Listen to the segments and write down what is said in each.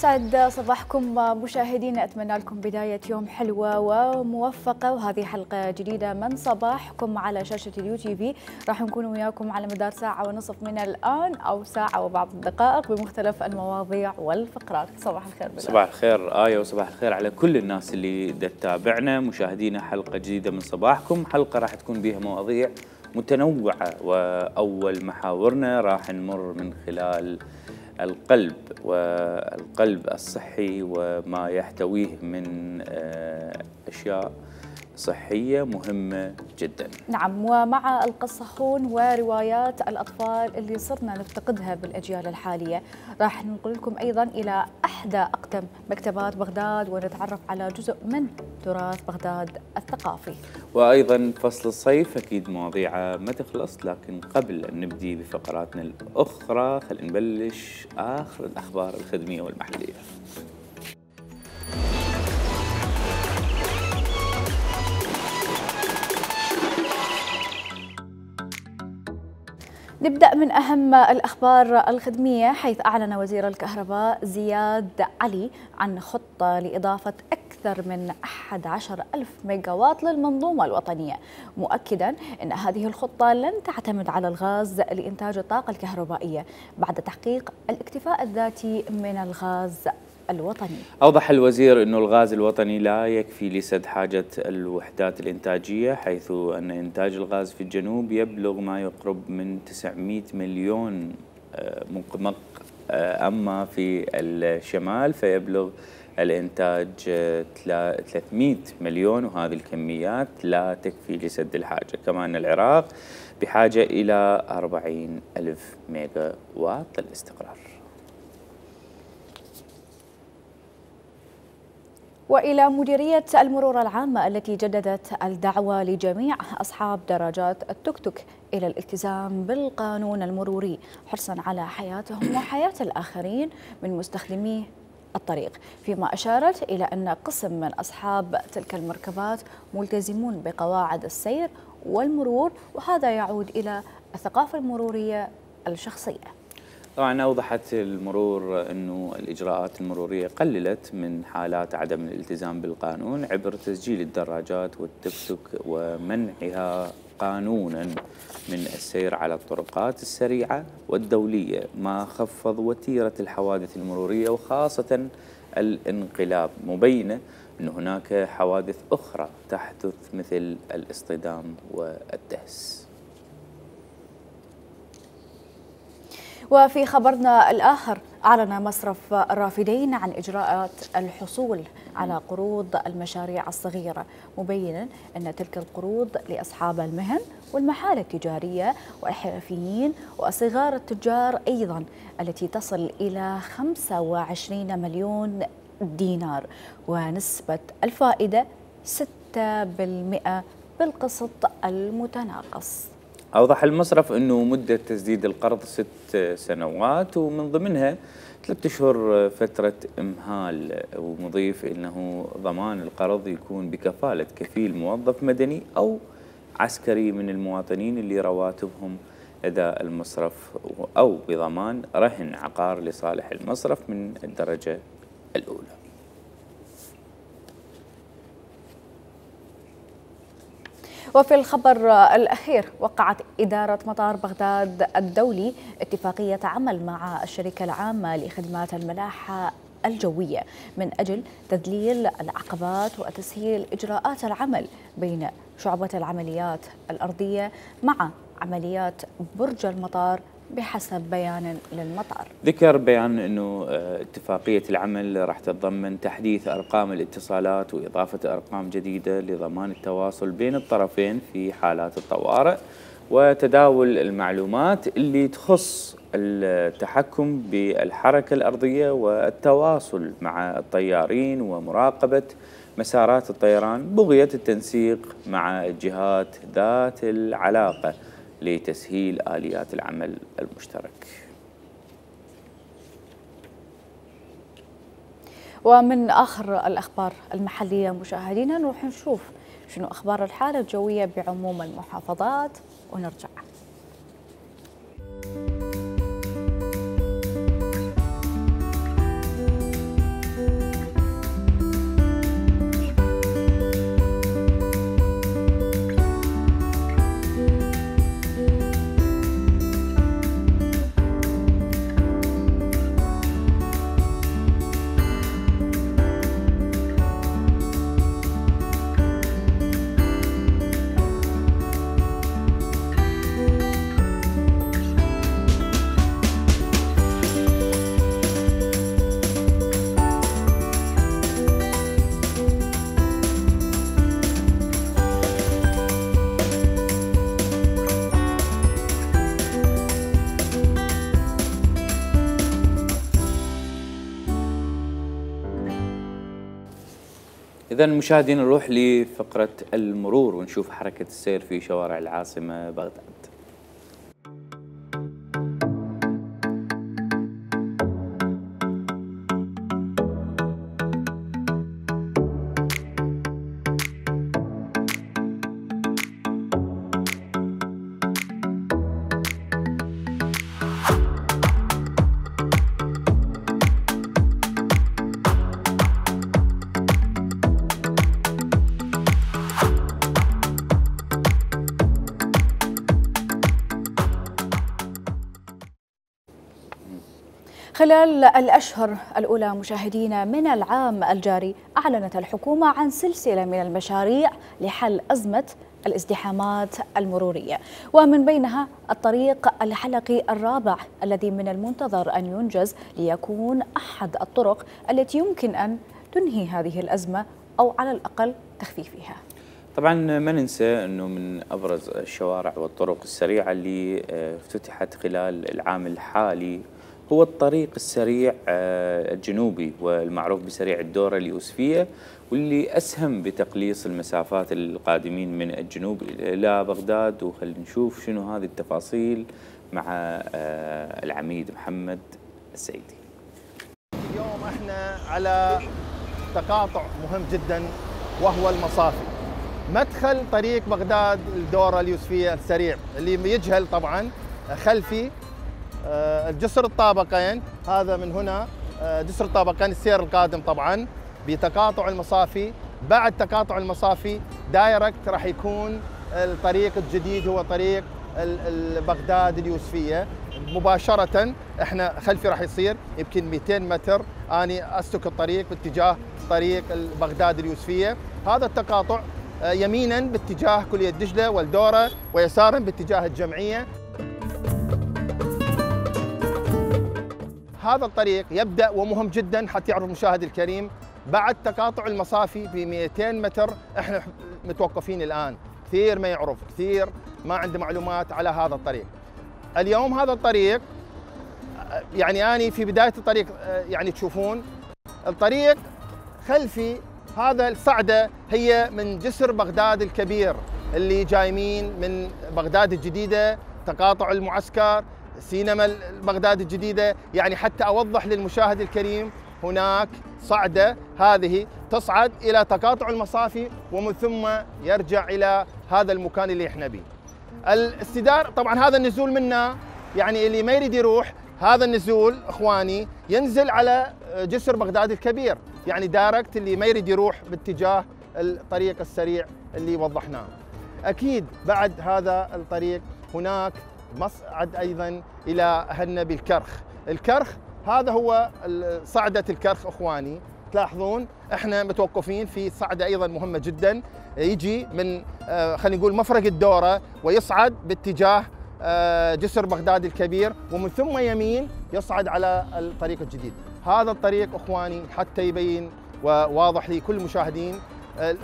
يسعد صباحكم مشاهدينا، أتمنى لكم بداية يوم حلوة وموفقة، وهذه حلقة جديدة من صباحكم على شاشة اليو تي في. راح نكون وياكم على مدار ساعة ونصف من الآن أو ساعة وبعض الدقائق بمختلف المواضيع والفقرات. صباح الخير بالله. صباح الخير آية، وصباح الخير على كل الناس اللي تتابعنا. مشاهدينا حلقة جديدة من صباحكم، حلقة راح تكون بها مواضيع متنوعة، وأول محاورنا راح نمر من خلال القلب والقلب الصحي وما يحتويه من أشياء صحية مهمة جدا. نعم، ومع القصصون وروايات الأطفال اللي صرنا نفتقدها بالأجيال الحالية، راح ننقل لكم أيضا إلى أحدى أقدم مكتبات بغداد ونتعرف على جزء من تراث بغداد الثقافي. وأيضا فصل الصيف أكيد مواضيع ما تخلص، لكن قبل أن نبدي بفقراتنا الأخرى خلينا نبلش آخر الأخبار الخدمية والمحلية. نبدأ من أهم الأخبار الخدمية، حيث أعلن وزير الكهرباء زياد علي عن خطة لإضافة أكثر من 11,000 ميجاوات للمنظومة الوطنية، مؤكدا أن هذه الخطة لن تعتمد على الغاز لإنتاج الطاقة الكهربائية بعد تحقيق الاكتفاء الذاتي من الغاز الوطني. أوضح الوزير أن الغاز الوطني لا يكفي لسد حاجة الوحدات الإنتاجية، حيث أن إنتاج الغاز في الجنوب يبلغ ما يقرب من 900 مليون مقمق، أما في الشمال فيبلغ الإنتاج 300 مليون، وهذه الكميات لا تكفي لسد الحاجة. كمان العراق بحاجة إلى 40 ألف ميجا وات للاستقرار. وإلى مديرية المرور العامة التي جددت الدعوة لجميع أصحاب دراجات التوك توك إلى الالتزام بالقانون المروري حرصا على حياتهم وحياة الآخرين من مستخدمي الطريق، فيما أشارت إلى أن قسم من أصحاب تلك المركبات ملتزمون بقواعد السير والمرور، وهذا يعود إلى الثقافة المرورية الشخصية. طبعا أوضحت المرور أنه الإجراءات المرورية قللت من حالات عدم الالتزام بالقانون عبر تسجيل الدراجات والتوك توك ومنعها قانونا من السير على الطرقات السريعة والدولية، ما خفض وتيرة الحوادث المرورية وخاصة الانقلاب، مبينة أن هناك حوادث أخرى تحدث مثل الاصطدام والدهس. وفي خبرنا الآخر، أعلن مصرف الرافدين عن إجراءات الحصول على قروض المشاريع الصغيرة، مبينا أن تلك القروض لأصحاب المهن والمحال التجارية والحرفيين وصغار التجار أيضا، التي تصل إلى 25 مليون دينار، ونسبة الفائدة 6% بالقسط المتناقص. أوضح المصرف أنه مدة تسديد القرض 6 سنوات، ومن ضمنها 3 أشهر فترة إمهال، ومضيف أنه ضمان القرض يكون بكفالة كفيل موظف مدني أو عسكري من المواطنين اللي رواتبهم لدى المصرف، أو بضمان رهن عقار لصالح المصرف من الدرجة الأولى. وفي الخبر الأخير، وقعت إدارة مطار بغداد الدولي اتفاقية عمل مع الشركة العامة لخدمات الملاحة الجوية من أجل تذليل العقبات وتسهيل إجراءات العمل بين شعبة العمليات الأرضية مع عمليات برج المطار بحسب بيان للمطار. ذكر بيان أنه اتفاقية العمل راح تتضمن تحديث أرقام الاتصالات وإضافة أرقام جديدة لضمان التواصل بين الطرفين في حالات الطوارئ، وتداول المعلومات اللي تخص التحكم بالحركة الأرضية والتواصل مع الطيارين ومراقبة مسارات الطيران، بغية التنسيق مع الجهات ذات العلاقة لتسهيل آليات العمل المشترك. ومن آخر الأخبار المحلية مشاهدينا، نروح نشوف شنو أخبار الحالة الجوية بعموم المحافظات ونرجع. إذا مشاهدينا نروح لفقرة المرور ونشوف حركة السير في شوارع العاصمة بغداد. خلال الأشهر الأولى مشاهدينا من العام الجاري أعلنت الحكومة عن سلسلة من المشاريع لحل أزمة الازدحامات المرورية، ومن بينها الطريق الحلقي الرابع الذي من المنتظر أن ينجز ليكون أحد الطرق التي يمكن أن تنهي هذه الأزمة أو على الأقل تخفيفها. طبعا ما ننسى أنه من أبرز الشوارع والطرق السريعة اللي افتتحت خلال العام الحالي هو الطريق السريع الجنوبي والمعروف بسريع الدورة اليوسفية، واللي أسهم بتقليص المسافات القادمين من الجنوب إلى بغداد. وخلينا نشوف شنو هذه التفاصيل مع العميد محمد السيدي. اليوم احنا على تقاطع مهم جدا وهو المصافي. مدخل طريق بغداد الدورة اليوسفية السريع اللي يجهل طبعا خلفي الجسر الطابقين، هذا من هنا جسر الطابقين السير القادم طبعا بتقاطع المصافي. بعد تقاطع المصافي دايركت راح يكون الطريق الجديد هو طريق بغداد اليوسفية مباشرة. احنا خلفي راح يصير يمكن 200 متر اني اسلك الطريق باتجاه طريق بغداد اليوسفية. هذا التقاطع يمينا باتجاه كلية دجلة والدورة ويسارا باتجاه الجمعية. هذا الطريق يبدأ ومهم جدا حتى يعرف المشاهد الكريم بعد تقاطع المصافي ب 200 متر. احنا متوقفين الآن، كثير ما يعرف، كثير ما عنده معلومات على هذا الطريق. اليوم هذا الطريق يعني أنا في بداية الطريق يعني تشوفون الطريق خلفي هذا الصعدة هي من جسر بغداد الكبير اللي جايمين من بغداد الجديدة، تقاطع المعسكر، سينما بغداد الجديدة. يعني حتى أوضح للمشاهد الكريم هناك صعدة هذه تصعد إلى تقاطع المصافي ومن ثم يرجع إلى هذا المكان اللي احنا به. الاستدار طبعا هذا النزول منا، يعني اللي ما يريد يروح هذا النزول اخواني ينزل على جسر بغداد الكبير، يعني دايركت اللي ما يريد يروح باتجاه الطريق السريع اللي وضحناه. اكيد بعد هذا الطريق هناك مصعد ايضا الى اهلنا بالكرخ. الكرخ هذا هو صعدة الكرخ اخواني، تلاحظون احنا متوقفين في صعدة ايضا مهمة جدا، يجي من خلينا نقول مفرق الدورة ويصعد باتجاه جسر بغداد الكبير ومن ثم يمين يصعد على الطريق الجديد. هذا الطريق اخواني حتى يبين وواضح لكل المشاهدين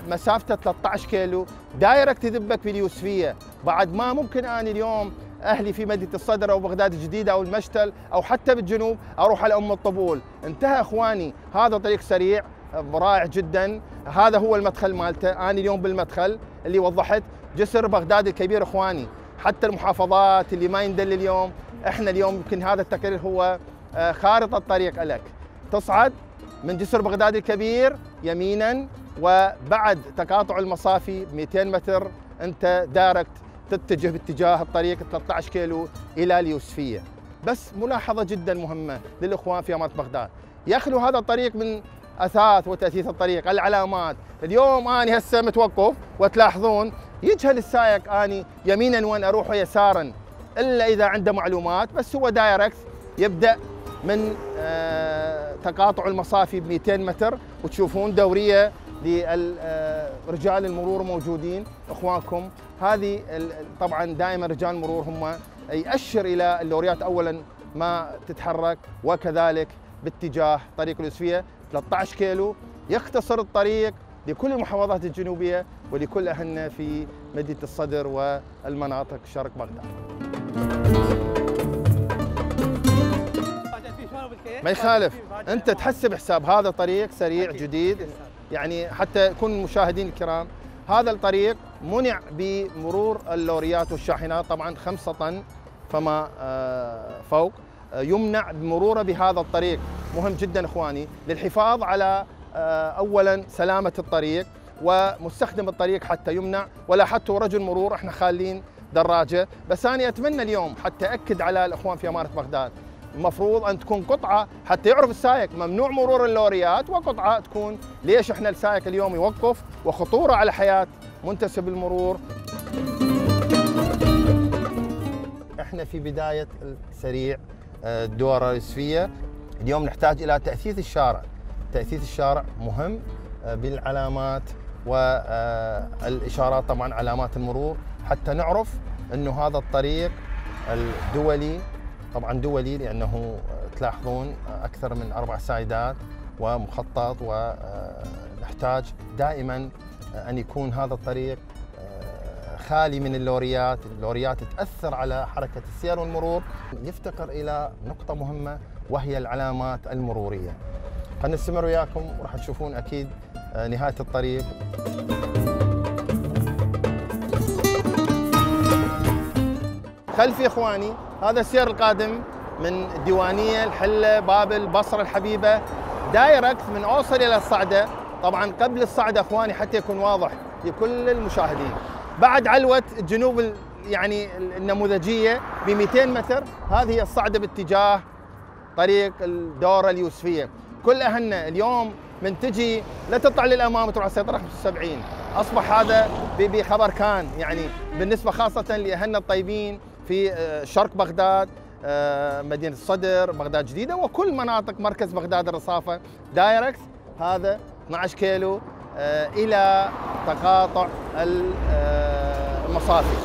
مسافته 13 كيلو دايركت تذبك باليوسفية. بعد ما ممكن أنا اليوم أهلي في مدينة الصدر أو بغداد الجديدة أو المشتل أو حتى بالجنوب أروح على أم الطبول. انتهى أخواني، هذا طريق سريع رائع جدا. هذا هو المدخل مالته. أنا اليوم بالمدخل اللي وضحت جسر بغداد الكبير أخواني، حتى المحافظات اللي ما يندل اليوم احنا اليوم يمكن هذا التقرير هو خارطة الطريق لك. تصعد من جسر بغداد الكبير يمينا وبعد تقاطع المصافي 200 متر انت دايركت تتجه باتجاه الطريق 13 كيلو الى اليوسفيه. بس ملاحظه جدا مهمه للاخوان في اماره بغداد، يخلو هذا الطريق من اثاث وتاثيث الطريق، العلامات. اليوم اني هسه متوقف وتلاحظون يجهل السائق اني يمينا وين اروح ويسارا الا اذا عنده معلومات. بس هو دايركت يبدا من تقاطع المصافي ب 200 متر وتشوفون دوريه لرجال المرور موجودين اخوانكم. هذه طبعا دائما رجال المرور هم يأشر الى اللوريات اولا ما تتحرك، وكذلك باتجاه طريق اليوسفيه 13 كيلو يختصر الطريق لكل المحافظات الجنوبيه ولكل اهلنا في مدينه الصدر والمناطق شرق بغداد. ما يخالف، انت تحسب حساب هذا طريق سريع جديد يعني حتى يكون المشاهدين الكرام، هذا الطريق منع بمرور اللوريات والشاحنات، طبعا 5 طن فما فوق يمنع بمروره بهذا الطريق. مهم جدا اخواني للحفاظ على اولا سلامه الطريق ومستخدم الطريق حتى يمنع. ولاحظتوا رجل مرور احنا خالين دراجه، بس انا اتمنى اليوم حتى اكد على الاخوان في اماره بغداد، المفروض ان تكون قطعه حتى يعرف السائق ممنوع مرور اللوريات، وقطعه تكون ليش احنا السائق اليوم يوقف وخطوره على حياه منتسب المرور. احنا في بدايه السريع الدورة اليوسفية، اليوم نحتاج الى تأثيث الشارع. تأثيث الشارع مهم بالعلامات والاشارات، طبعا علامات المرور، حتى نعرف انه هذا الطريق الدولي، طبعا دولي لانه تلاحظون اكثر من 4 سايدات ومخطط، ونحتاج دائما ان يكون هذا الطريق خالي من اللوريات. اللوريات تأثر على حركة السير والمرور. يفتقر إلى نقطة مهمة وهي العلامات المرورية. خلينا نستمر وياكم وراح تشوفون أكيد نهاية الطريق. خلفي إخواني هذا السير القادم من الديوانية، الحلة، بابل، بصرة، الحبيبة، دايركت من أوصل إلى الصعدة. طبعا قبل الصعدة إخواني حتى يكون واضح لكل المشاهدين، بعد علوة الجنوب يعني النموذجية ب 200 متر، هذه هي الصعدة باتجاه طريق الدورة اليوسفية. كل أهلنا اليوم من تجي لا تطلع للأمام تروح على السيطرة 75. أصبح هذا بخبر كان، يعني بالنسبة خاصة لأهلنا الطيبين في شرق بغداد، مدينة الصدر، بغداد جديدة، وكل مناطق مركز بغداد الرصافة، دايركت هذا 12 كيلو إلى تقاطع المصافي.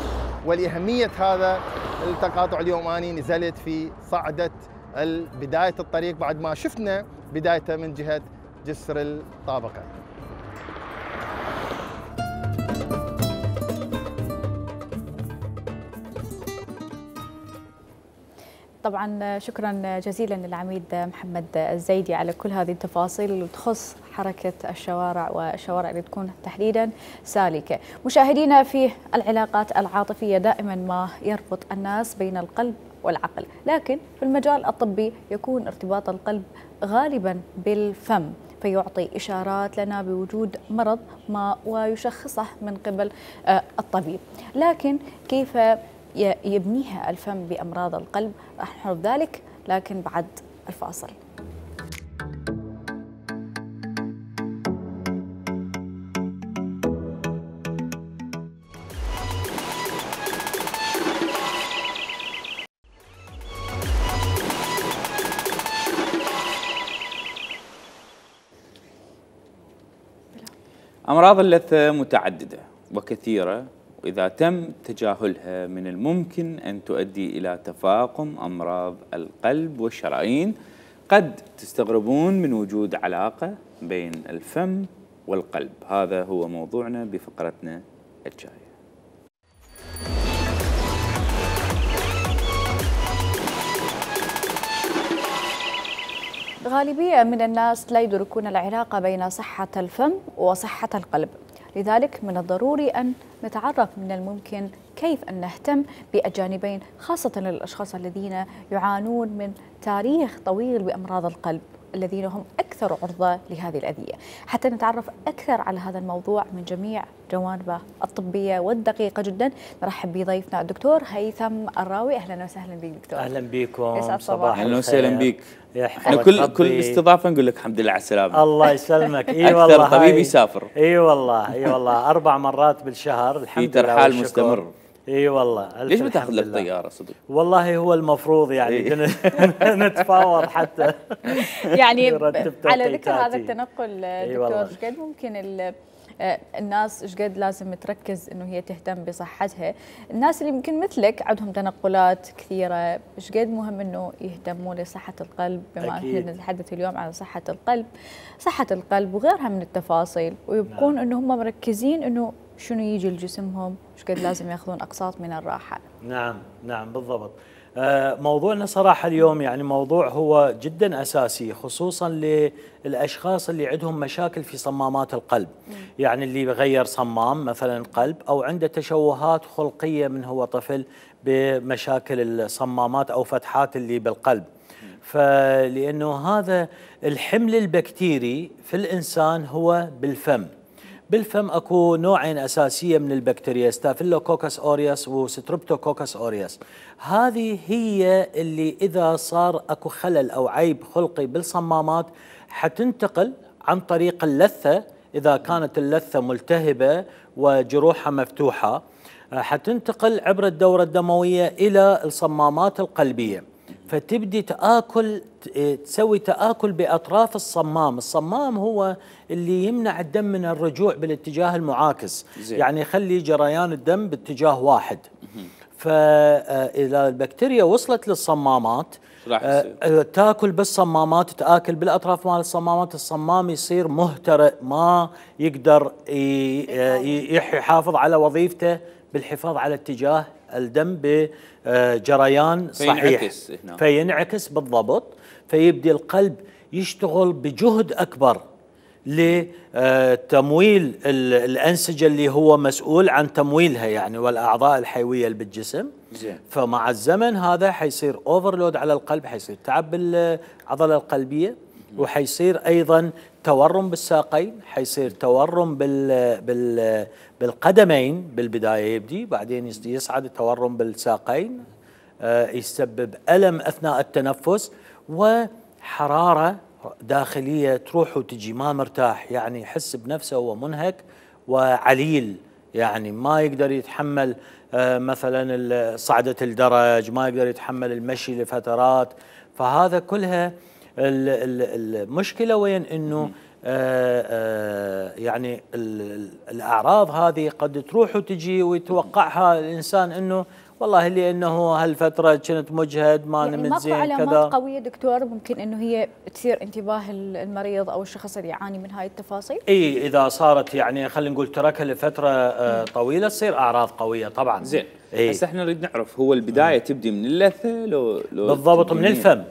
ولأهمية هذا التقاطع اليوم أنا نزلت في صعدة بداية الطريق بعد ما شفنا بدايته من جهة جسر الطابقة. طبعا شكرا جزيلا للعميد محمد الزيدي على كل هذه التفاصيل اللي تخص حركة الشوارع والشوارع اللي تكون تحديدا سالكة. مشاهدينا، في العلاقات العاطفية دائما ما يربط الناس بين القلب والعقل، لكن في المجال الطبي يكون ارتباط القلب غالبا بالفم، فيعطي إشارات لنا بوجود مرض ما ويشخصه من قبل الطبيب. لكن كيف يبنيها الفم بأمراض القلب؟ راح نعرف ذلك لكن بعد الفاصل. أمراض اللثة متعددة وكثيرة، وإذا تم تجاهلها من الممكن أن تؤدي إلى تفاقم أمراض القلب والشرايين. قد تستغربون من وجود علاقة بين الفم والقلب. هذا هو موضوعنا بفقرتنا الجاية. غالبية من الناس لا يدركون العلاقة بين صحة الفم وصحة القلب، لذلك من الضروري أن نتعرف من الممكن كيف أن نهتم بالجانبين، خاصة للأشخاص الذين يعانون من تاريخ طويل بأمراض القلب، الذين هم أكثر عرضة لهذه الأذية. حتى نتعرف أكثر على هذا الموضوع من جميع جوانبه الطبية والدقيقة جدا، نرحب بضيفنا الدكتور هيثم الراوي. أهلا وسهلا بك دكتور. أهلا بكم، صباح أهلا وسهلا بك. احنا كل استضافة نقول لك الحمد لله على السلامة. الله يسلمك. اي والله أكثر طبيب يسافر. اي والله 4 مرات بالشهر الحمد لله، في ترحال مستمر. اي والله. ليش ما تاخذ لك طياره صدق؟ والله هو المفروض يعني نتفاوض حتى يعني على ذكر هذا التنقل دكتور، ايش قد ممكن الناس ايش قد لازم تركز انه هي تهتم بصحتها؟ الناس اللي يمكن مثلك عندهم تنقلات كثيره، ايش قد مهم انه يهتموا لصحه القلب، بما اننا نتحدث اليوم عن صحه القلب وغيرها من التفاصيل، ويبقون انه هم مركزين انه شنو يجي لجسمهم، ايش قد لازم ياخذون اقساط من الراحه. نعم نعم بالضبط. موضوعنا صراحة اليوم يعني موضوع هو جدا أساسي، خصوصا للأشخاص اللي عندهم مشاكل في صمامات القلب. يعني اللي بغير صمام مثلا قلب، أو عنده تشوهات خلقية من هو طفل بمشاكل الصمامات أو فتحات اللي بالقلب. فلأنه هذا الحمل البكتيري في الإنسان هو بالفم. بالفم اكو نوعين اساسيه من البكتيريا، ستافيلوكوكس اوريوس وستريبتوكوكس اوريوس. هذه هي اللي اذا صار اكو خلل او عيب خلقي بالصمامات حتنتقل عن طريق اللثه، اذا كانت اللثه ملتهبه وجروحها مفتوحه حتنتقل عبر الدوره الدمويه الى الصمامات القلبيه، فتبدي تسوي تآكل بأطراف الصمام. الصمام هو اللي يمنع الدم من الرجوع بالاتجاه المعاكس، يعني يخلي جريان الدم باتجاه واحد. فإذا البكتيريا وصلت للصمامات تاكل بالصمامات، تآكل بالأطراف مال الصمامات، الصمام يصير مهترئ، ما يقدر يحافظ على وظيفته بالحفاظ على اتجاه الدم بجريان صحيح، فينعكس بالضبط. فيبدي القلب يشتغل بجهد أكبر لتمويل الأنسجة اللي هو مسؤول عن تمويلها يعني، والأعضاء الحيوية اللي بالجسم. فمع الزمن هذا حيصير اوفرلود على القلب، حيصير تعب بالعضلة القلبية، وحيصير أيضا تورم بالساقين، حيصير تورم بالقدمين بالبداية يبدي، بعدين يصعد التورم بالساقين، يسبب ألم أثناء التنفس وحرارة داخلية تروح وتجي، ما مرتاح، يعني يحس بنفسه هو منهك وعليل، يعني ما يقدر يتحمل مثلا صعدة الدرج، ما يقدر يتحمل المشي لفترات. فهذا كلها المشكلة وين انه يعني الأعراض هذه قد تروح وتجي ويتوقعها الإنسان انه والله لانه هالفتره كنت مجهد ما يعني نمت زين كذا. علامات قويه دكتور ممكن انه هي تثير انتباه المريض او الشخص اللي يعاني من هاي التفاصيل؟ اي اذا صارت يعني خلينا نقول تركها لفتره طويله تصير اعراض قويه طبعا. زين هسه احنا نريد نعرف هو البدايه تبدي من اللثه لو بالضبط من الفم.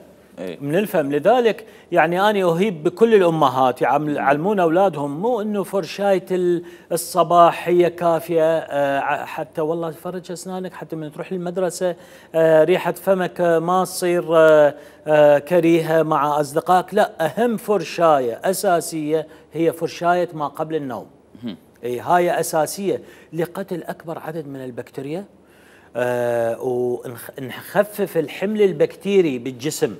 من الفم. لذلك يعني أنا أهيب بكل الأمهات يعلمون أولادهم مو إنه فرشاية الصباح هي كافية، حتى والله تفرج أسنانك حتى من تروح للمدرسة ريحة فمك ما تصير كريهة مع أصدقائك. لا، أهم فرشاية أساسية هي فرشاية ما قبل النوم. هاي أساسية لقتل أكبر عدد من البكتيريا ونخفف الحمل البكتيري بالجسم.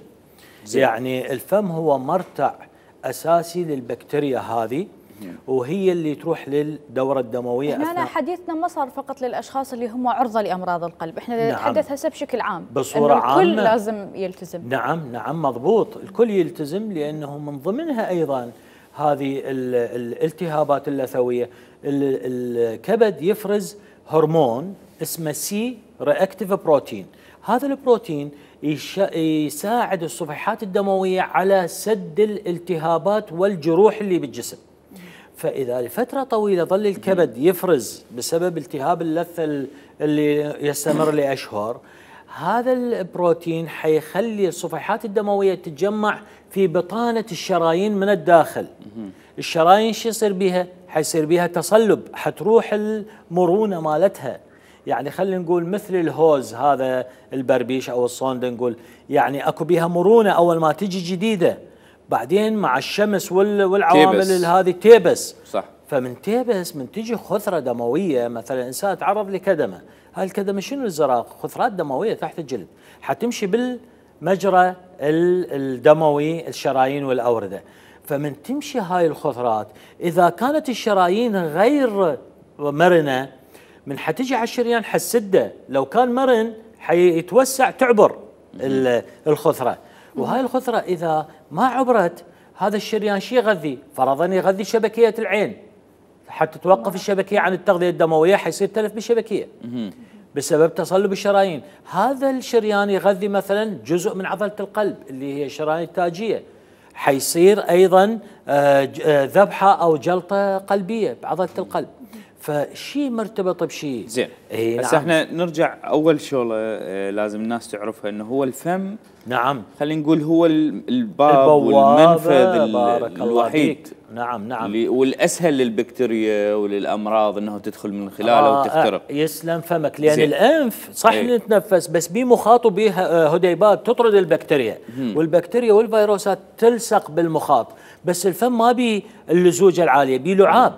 يعني الفم هو مرتع أساسي للبكتيريا هذه، وهي اللي تروح للدورة الدموية. احنا حديثنا ما صار فقط للأشخاص اللي هم عرضة لأمراض القلب، احنا نتحدث هسه بشكل عام بصورة عامة. الكل لازم يلتزم. نعم مضبوط، الكل يلتزم، لأنه من ضمنها أيضا هذه الالتهابات اللثوية. الكبد يفرز هرمون اسمه سي رياكتيف بروتين. هذا البروتين يساعد الصفيحات الدموية على سد الالتهابات والجروح اللي بالجسم. فإذا لفترة طويلة ظل الكبد يفرز بسبب التهاب اللثة اللي يستمر لأشهر، هذا البروتين حيخلي الصفيحات الدموية تتجمع في بطانة الشرايين من الداخل. الشرايين شو يصير بيها؟ حيصير بيها تصلب، حتروح المرونة مالتها. يعني خلينا نقول مثل الهوز هذا البربيش او الصوند، نقول يعني اكو بيها مرونه اول ما تجي جديده، بعدين مع الشمس والعوامل هذه تيبس. صح. فمن تيبس من تجي خثره دمويه، مثلا انسان تعرض لكدمه، هاي الكدمه شنو الزراق؟ خثرات دمويه تحت الجلد، حتمشي بالمجرى الدموي الشرايين والاورده. فمن تمشي هاي الخثرات، اذا كانت الشرايين غير مرنه من حتجي على الشريان حسده، لو كان مرن حيتوسع تعبر الخثرة. وهاي الخثرة إذا ما عبرت هذا الشريان شي يغذي؟ فرضاً يغذي شبكية العين، حتى توقف الشبكية عن التغذية الدموية حيصير تلف بالشبكية بسبب تصلب الشرايين. هذا الشريان يغذي مثلا جزء من عضلة القلب اللي هي الشرايين التاجية، حيصير أيضا ذبحة أو جلطة قلبية بعضلة القلب. فشيء مرتبط بشيء. زين. هسه احنا نرجع اول شغله لازم الناس تعرفها انه هو الفم. نعم. خلينا نقول هو الباب والمنفذ الوحيد. نعم. والاسهل للبكتيريا وللامراض انه تدخل من خلاله وتخترق. يسلم فمك، لان الانف صح نتنفس بس بيه مخاط وبيه هديبات تطرد البكتيريا، والبكتيريا والفيروسات تلصق بالمخاط، بس الفم ما بيه اللزوجه العاليه، بيه لعاب.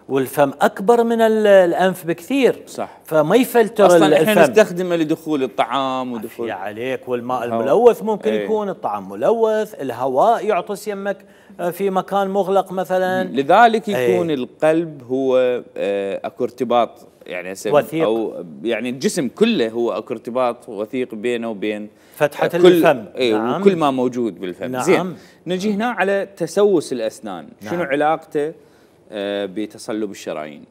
والفم اكبر من الانف بكثير، صح، فما يفلتر اصلا الفم. احنا نستخدمه لدخول الطعام ودخول عليك، والماء الملوث ممكن يكون الطعام ملوث، الهواء يعطس يمك في مكان مغلق مثلا. لذلك يكون القلب هو اكو ارتباط يعني وثيق، او يعني الجسم كله هو اكو ارتباط وثيق بينه وبين فتحة الفم. نعم. وكل ما موجود بالفم. نعم. زين، نجي هنا على تسوس الاسنان. نعم. شنو علاقته بتصلب الشرايين؟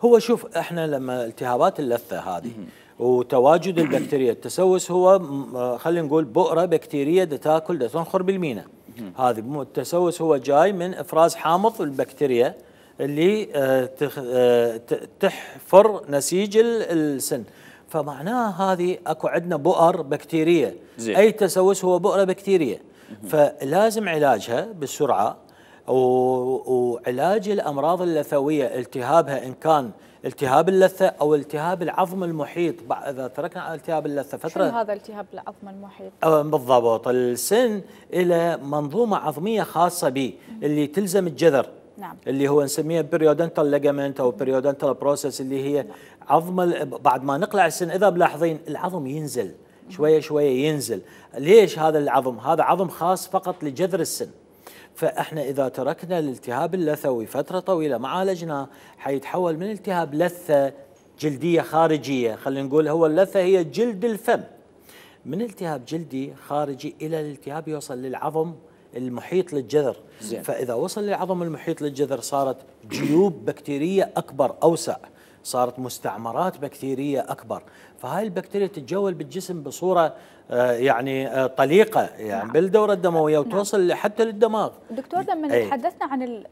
هو شوف، احنا لما التهابات اللثه هذه وتواجد البكتيريا، التسوس هو خلينا نقول بؤره بكتيريه تاكل تنخر بالمينا. هذه التسوس هو جاي من افراز حامض البكتيريا اللي تحفر نسيج السن، فمعناها هذه اكو عندنا بؤر بكتيريه. اي تسوس هو بؤره بكتيريه، فلازم علاجها بسرعه. وعلاج الامراض اللثويه التهابها ان كان التهاب اللثه او التهاب العظم المحيط. اذا تركنا التهاب اللثه فتره. شنو هذا التهاب العظم المحيط؟ بالضبط، السن الى منظومه عظميه خاصه به اللي تلزم الجذر. نعم. اللي هو نسميه بريودنتال ليجامنت او بريودنتال بروسيس، اللي هي عظم بعد ما نقلع السن. اذا ملاحظين العظم ينزل شويه شويه ينزل. ليش هذا العظم؟ هذا عظم خاص فقط لجذر السن. فاحنا اذا تركنا الالتهاب اللثوي فتره طويله ما عالجناه، حيتحول من التهاب لثه جلديه خارجيه، خلينا نقول هو اللثه هي جلد الفم، من التهاب جلدي خارجي الى الالتهاب يوصل للعظم المحيط للجذر. زين. فاذا وصل للعظم المحيط للجذر صارت جيوب بكتيريه اكبر اوسع، صارت مستعمرات بكتيريه اكبر، فهاي البكتيريا تتجول بالجسم بصوره يعني طليقه يعني نعم. بالدوره الدمويه وتوصل نعم. حتى للدماغ. دكتور، لما تحدثنا عن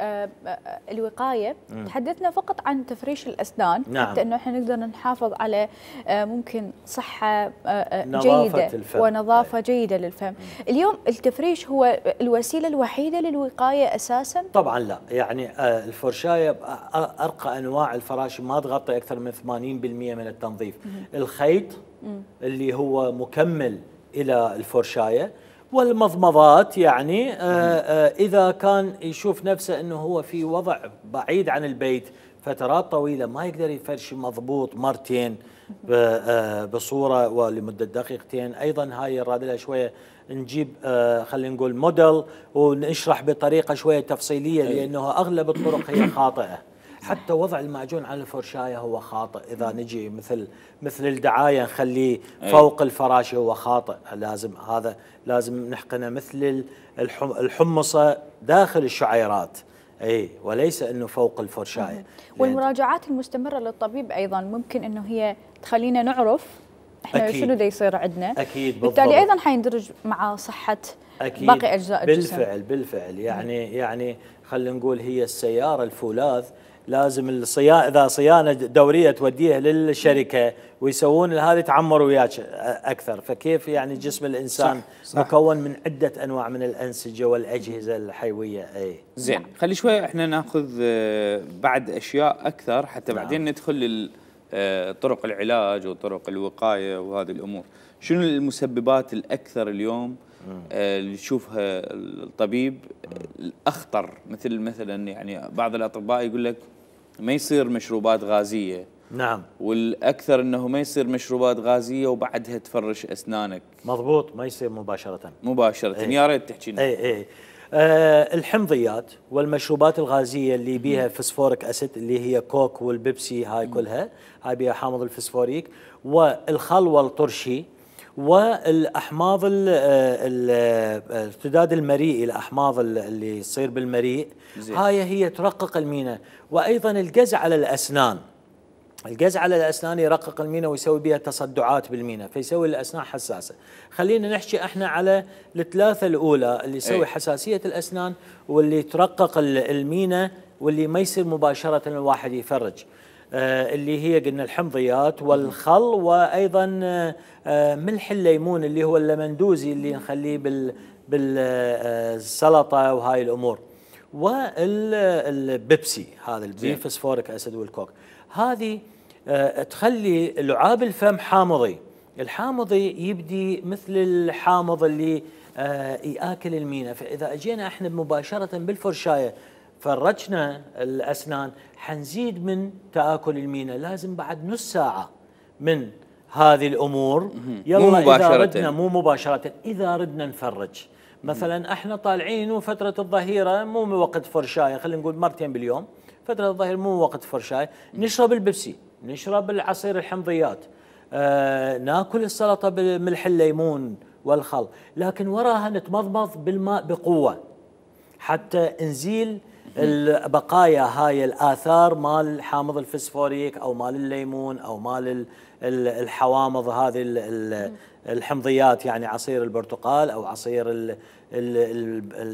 الوقايه تحدثنا فقط عن تفريش الاسنان، نعم. حتى انه احنا نقدر نحافظ على ممكن صحه جيده الفم. ونظافه جيده للفم. اليوم التفريش هو الوسيله الوحيده للوقايه اساسا؟ طبعا لا، يعني الفرشايه ارقى انواع الفراشي ما تغطي اكثر من 80% من التنظيف. الخيط اللي هو مكمل إلى الفرشاية، والمضمضات يعني إذا كان يشوف نفسه أنه هو في وضع بعيد عن البيت فترات طويلة ما يقدر يفرش مضبوط مرتين بصورة ولمدة دقيقتين. أيضا هاي يراد لها شوية نجيب خلينا نقول موديل ونشرح بطريقة شوية تفصيلية، لأنه أغلب الطرق هي خاطئة. حتى وضع المعجون على الفرشاية هو خاطئ. إذا نجي مثل الدعاية نخليه فوق الفراشة هو خاطئ. لازم نحقنه مثل الحمصة داخل الشعيرات، وليس انه فوق الفرشاية. والمراجعات المستمرة للطبيب ايضا ممكن انه هي تخلينا نعرف احنا شنو دا يصير عندنا. اكيد، بالتالي ايضا حيندرج مع صحة باقي اجزاء الجسم. بالفعل يعني خلينا نقول هي السيارة الفولاذ لازم اذا صيانه دوريه توديها للشركه ويسوون هذه تعمر وياك اكثر. فكيف يعني جسم الانسان صح. مكون من عده انواع من الانسجه والاجهزه الحيويه. زين، خلي شوي احنا ناخذ بعد اشياء اكثر حتى نعم. بعدين ندخل طرق العلاج وطرق الوقايه وهذه الامور. شنو المسببات الاكثر اليوم اللي يشوفها الطبيب الاخطر؟ مثلا يعني بعض الاطباء يقول لك ما يصير مشروبات غازيه. نعم. والاكثر انه ما يصير مشروبات غازيه وبعدها تفرش اسنانك. مضبوط، ما يصير مباشره. يا ريت تحكي لنا. الحمضيات والمشروبات الغازيه اللي بيها فسفوريك اسيد اللي هي كوك والبيبسي، هاي كلها هاي بيها حامض الفسفوريك، والخل والطرشي، والاحماض الارتداد المريئي، الاحماض اللي يصير بالمريء، هاي هي ترقق المينا. وايضا القز على الاسنان، القز على الاسنان يرقق المينا ويسوي بها تصدعات بالمينا، فيسوي الاسنان حساسه. خلينا نحكي احنا على الثلاثه الاولى اللي يسوي حساسيه الاسنان واللي ترقق المينا واللي ما يصير مباشره الواحد يفرج. اللي هي قلنا الحمضيات والخل، وايضا ملح الليمون اللي هو اللمندوزي اللي نخليه بالسلطه وهاي الامور، والبيبسي هذا البيفسفوريك اسيد والكوك. هذه تخلي لعاب الفم حامضي. الحامضي يبدي مثل الحامض اللي ياكل المينا، فاذا اجينا احنا مباشره بالفرشايه فرجنا الاسنان حنزيد من تاكل المينا. لازم بعد نص ساعه من هذه الامور يلا مو مباشره اذا ردنا نفرج. مثلا احنا طالعين وفتره الظهيره مو وقت فرشايه، خلينا نقول مرتين باليوم، فتره الظهيره مو وقت فرشايه، نشرب البيبسي، نشرب العصير الحمضيات، ناكل السلطه بملح الليمون والخل، لكن وراها نتمضمض بالماء بقوه حتى نزيل البقايا هاي الاثار مال حامض الفسفوريك او مال الليمون او مال الحوامض هذه الحمضيات، يعني عصير البرتقال او عصير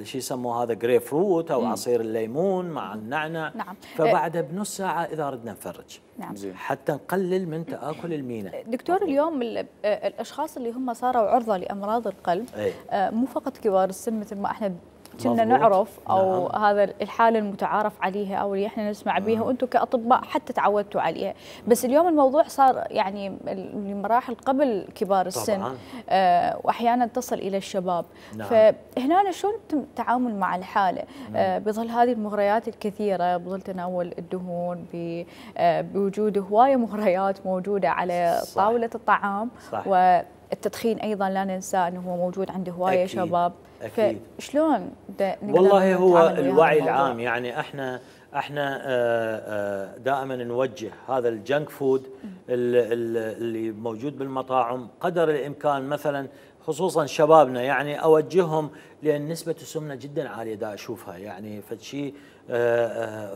شو يسموه هذا جريب فروت او عصير الليمون مع النعنع. نعم. فبعدها بنص ساعه اذا ردنا نفرج. نعم. حتى نقلل من تاكل المينا. دكتور، اليوم الاشخاص اللي هم صاروا عرضه لامراض القلب مو فقط كبار السن مثل ما احنا كنا نعرف او نعم. هذا الحاله المتعارف عليها او اللي احنا نسمع بها وانتم كاطباء حتى تعودتوا عليها، بس اليوم الموضوع صار يعني لمراحل قبل كبار السن واحيانا تصل الى الشباب. نعم. فهنا شلون التعامل مع الحاله بظل هذه المغريات الكثيره، بظل تناول الدهون، بوجود هوايه مغريات موجوده على صح. طاوله الطعام. صح. والتدخين ايضا لا ننسى انه هو موجود عند هوايه شباب. أكيد. فشلون والله هو الوعي العام، يعني احنا دائما نوجه هذا الجنك فود اللي موجود بالمطاعم قدر الامكان، مثلا خصوصا شبابنا يعني اوجههم، لان نسبه السمنه جدا عاليه دا اشوفها، يعني فشيء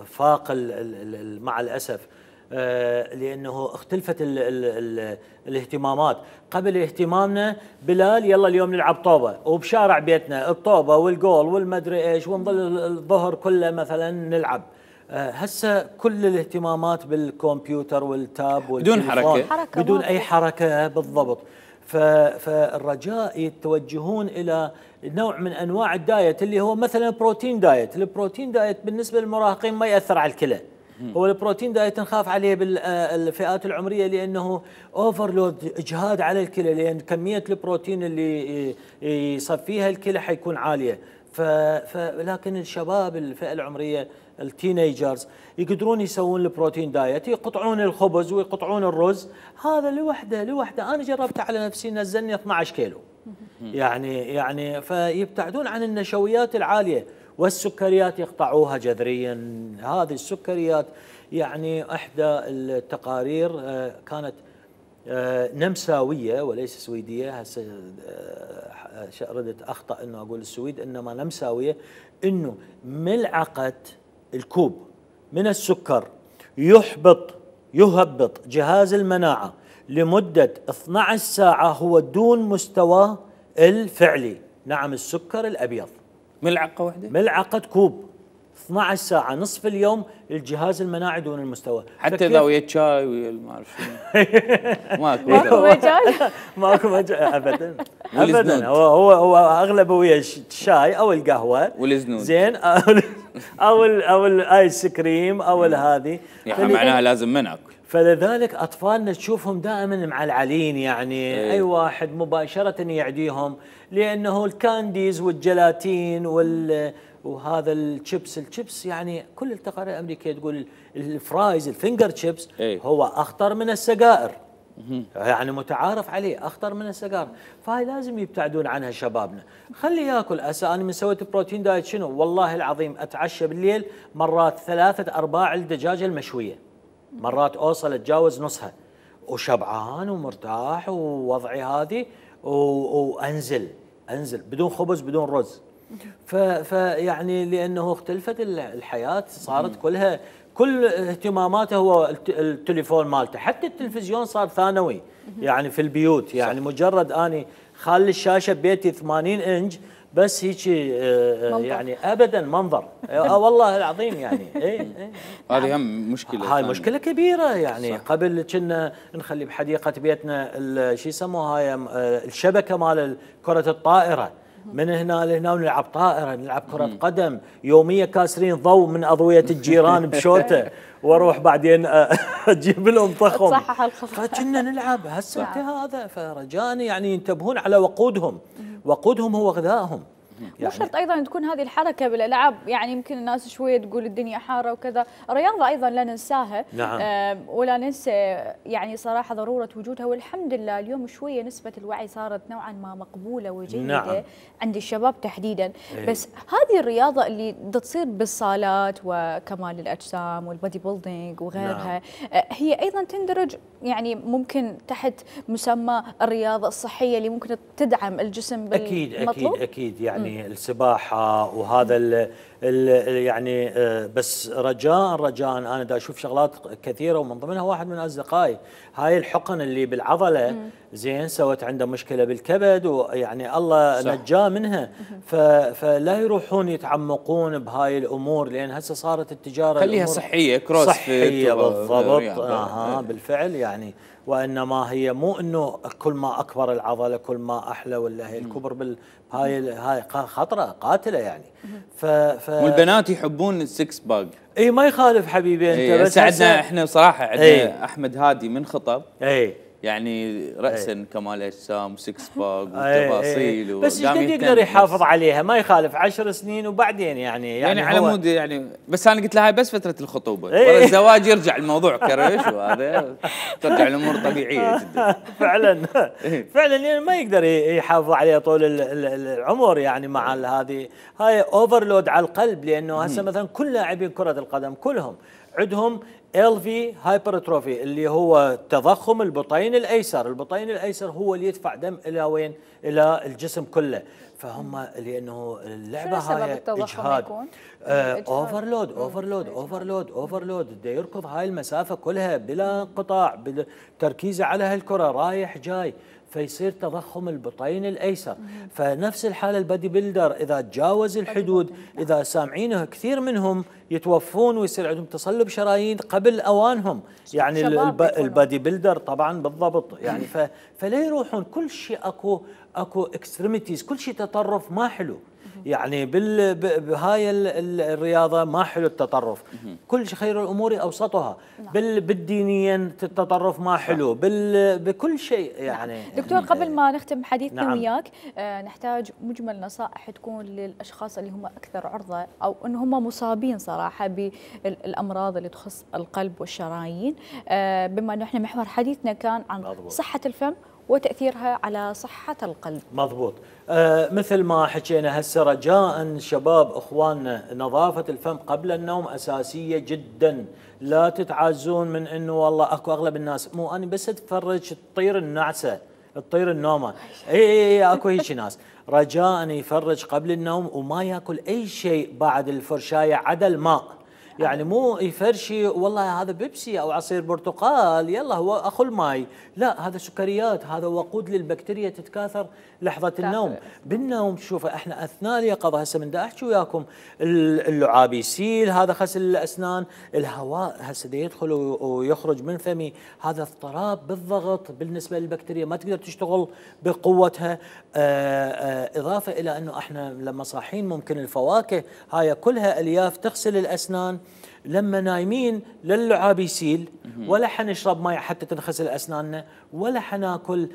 فاق مع الاسف، لانه اختلفت الاهتمامات. قبل اهتمامنا بلال يلا اليوم نلعب طوبه، وبشارع بيتنا الطوبه والجول والمدري ايش، ونظل الظهر كله مثلا نلعب. هسه كل الاهتمامات بالكمبيوتر والتاب بدون حركه، بدون اي حركه بالضبط. فالرجاء يتوجهون الى نوع من انواع الدايت اللي هو مثلا بروتين دايت. البروتين دايت بالنسبه للمراهقين ما ياثر على الكلى. هو البروتين دايت نخاف عليه بالفئات العمريه لانه اوفرلود، اجهاد على الكلى، لان كميه البروتين اللي يصفيها الكلى حيكون عاليه. لكن الشباب الفئه العمريه التينيجرز يقدرون يسوون البروتين دايت، يقطعون الخبز ويقطعون الرز. هذا لوحده انا جربته على نفسي، نزلني 12 كيلو. يعني فيبتعدون عن النشويات العاليه، والسكريات يقطعوها جذريا. هذه السكريات يعني احدى التقارير كانت نمساويه وليس سويديه، هسه ردت اخطا انه اقول السويد، انما نمساويه، انه ملعقه الكوب من السكر يهبط جهاز المناعه لمده 12 ساعه هو دون مستواه الفعلي. نعم، السكر الابيض ملعقه واحده، ملعقه كوب 12 ساعه، نصف اليوم الجهاز المناعي دون المستوى. حتى اذا ويا شاي ويا ما اعرف شنو ماكو مجال ماكو مجال ابدا ابدا. هو اغلبه ويا الشاي او القهوه والزنود زين او الايس كريم او هذه، يعني معناها لازم ما ناكل. فلذلك اطفالنا تشوفهم دائما معلعلين، يعني اي واحد مباشره يعديهم، لانه الكانديز والجلاتين وهذا الشيبس يعني كل التقارير الامريكيه تقول الفرايز الفينجر شيبس هو اخطر من السجائر، يعني متعارف عليه اخطر من السجائر. فهاي لازم يبتعدون عنها شبابنا. خلي ياكل. انا من سويت بروتين دايت شنو والله العظيم، اتعشى بالليل مرات 3/4 الدجاجه المشويه، مرات اوصل اتجاوز نصها، وشبعان ومرتاح ووضعي هذه، وانزل بدون خبز بدون رز. فيعني لانه اختلفت الحياه، صارت كل اهتماماته هو التليفون مالته، حتى التلفزيون صار ثانوي يعني في البيوت. يعني مجرد اني خالي الشاشه ببيتي 80 انش، بس هيك يعني ابدا منظر والله العظيم يعني هذه هم مشكله، هاي مشكله كبيره يعني. صح. قبل كنا نخلي بحديقه بيتنا شو يسموها هاي الشبكه مال كره الطائره، من هنا لهنا ونلعب طائره، نلعب كره قدم يوميه، كاسرين ضوء من اضويه الجيران بشوته، واروح بعدين اجيب لهم طخم تصحح الخطا، فكنا نلعب هسه هذا. فرجاني يعني ينتبهون على وقودهم، وقودهم هو غذائهم. مو شرط ايضا تكون هذه الحركه بالالعاب، يعني يمكن الناس شويه تقول الدنيا حاره وكذا، الرياضه ايضا لا ننساها. نعم. ولا ننسى يعني صراحه ضروره وجودها، والحمد لله اليوم شويه نسبه الوعي صارت نوعا ما مقبوله وجيده. نعم. عند الشباب تحديدا. بس هذه الرياضه اللي تصير بالصالات وكمال الاجسام والبودي بيلدينج وغيرها، هي ايضا تندرج يعني ممكن تحت مسمى الرياضه الصحيه اللي ممكن تدعم الجسم بالمطلوب. اكيد يعني السباحه وهذا يعني بس رجاء انا دا اشوف شغلات كثيره، ومن ضمنها واحد من اصدقائي هاي الحقن اللي بالعضله زين سوت عنده مشكله بالكبد، ويعني الله نجاه منها. فلا يروحون يتعمقون بهاي الامور، لان هسه صارت التجاره خليها صحيه، كروس صحيه بالضبط. بالفعل يعني. وانما هي مو انه كل ما اكبر العضله كل ما احلى، ولا هي الكبر هاي خطره قاتله يعني. والبنات يحبون السكس باج. اي ما يخالف حبيبي انت. بس عندنا احنا بصراحه عندنا احمد هادي من خطب يعني رأسا كمال اجسام وسكس باج وتفاصيل بس ايش قد يقدر يحافظ عليها؟ ما يخالف 10 سنين وبعدين يعني على مود يعني. بس انا قلت لها هاي بس فتره الخطوبه، ورا الزواج يرجع الموضوع كرش، وهذا ترجع الامور طبيعيه جدا. فعلا يعني ما يقدر يحافظ عليها طول العمر يعني. مع هذه هاي اوفرلود على القلب، لانه هسه مثلا كل لاعبين كره القدم كلهم عندهم LV هايبرتروفي اللي هو تضخم البطين الايسر. البطين الايسر هو اللي يدفع دم الى وين؟ الى الجسم كله. فهم لانه اللعبه هاي اجهاد، اوفرلود بده يركض هاي المسافه كلها بلا انقطاع، تركيزه على هالكره رايح جاي، فيصير تضخم البطين الايسر. فنفس الحاله البادي بيلدر اذا تجاوز الحدود، اذا سامعينه كثير منهم يتوفون ويصير عندهم تصلب شرايين قبل اوانهم يعني. البادي بيلدر طبعا بالضبط يعني. فلا يروحون كل شيء اكو اكستريميتيز، كل شيء تطرف ما حلو يعني. بهاي الرياضه ما حلو التطرف، كل شيء خير الامور اوسطها. بالدينيا التطرف ما حلو، بكل شيء يعني. دكتور قبل ما نختم حديثنا وياك، نحتاج مجمل نصائح تكون للاشخاص اللي هم اكثر عرضه او ان هم مصابين صراحه بالامراض اللي تخص القلب والشرايين، بما انه احنا محور حديثنا كان عن صحه الفم وتأثيرها على صحة القلب. مضبوط. مثل ما حكينا هسه، رجاء شباب اخواننا نظافة الفم قبل النوم أساسية جدا. لا تتعازون من انه والله اكو اغلب الناس مو انا بس اتفرج تطير النعسة تطير النومة. اي اكو هيك ناس. رجاء يفرج قبل النوم وما ياكل اي شيء بعد الفرشاية عدا الماء. يعني مو يفرشي والله هذا بيبسي او عصير برتقال يلا هو اخو الماي، لا هذا سكريات، هذا وقود للبكتيريا تتكاثر لحظه النوم. بالنوم شوف احنا اثناء اليقظه هسه من دا احكي وياكم اللعاب يسيل، هذا غسل الاسنان، الهواء هسه يدخل ويخرج من فمي، هذا اضطراب بالضغط بالنسبه للبكتيريا ما تقدر تشتغل بقوتها. اضافه الى انه احنا لما صاحين ممكن الفواكه هاي كلها الياف تغسل الاسنان، لما نايمين للعاب يسيل، ولا حنشرب ماء حتى تنغسل اسناننا، ولا حناكل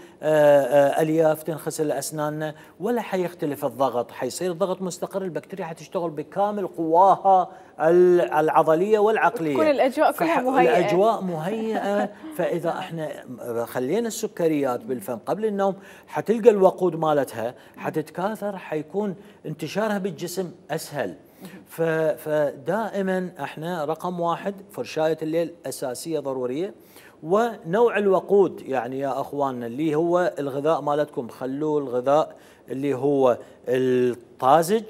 الياف تنغسل اسناننا، ولا حيختلف الضغط، حيصير الضغط مستقر، البكتيريا حتشتغل بكامل قواها العضليه والعقليه. كل الاجواء كلها مهيئه. الاجواء مهيئه. فاذا احنا خلينا السكريات بالفم قبل النوم حتلقى الوقود مالتها حتتكاثر، حيكون انتشارها بالجسم اسهل. فدائما احنا رقم واحد فرشاية الليل أساسية ضرورية، ونوع الوقود يعني يا أخواننا اللي هو الغذاء مالتكم خلوه الغذاء اللي هو الطازج،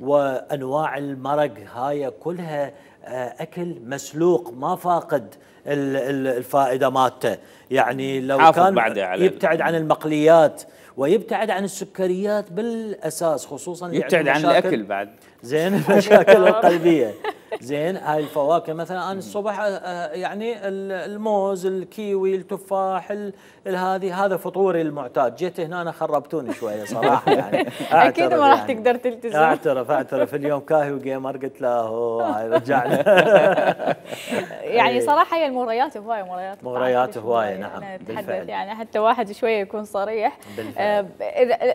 وأنواع المرق هاي كلها اكل مسلوق ما فاقد الفائده مالته، يعني لو كان يبتعد عن المقليات ويبتعد عن السكريات بالاساس، خصوصا يبتعد عن الاكل بعد زين المشاكل القلبيه. زين هاي الفواكه مثلا انا الصبح يعني الموز، الكيوي، التفاح، هذا فطوري المعتاد. جيت هنا أنا خربتوني شويه صراحه يعني. اكيد ما راح تقدر تلتزم. اعترف اليوم كاهي وجيمر، قلت له هاي رجعنا. يعني صراحه هي المغريات هوايه، مغريات هوايه نعم بالفعل. يعني حتى واحد شويه يكون صريح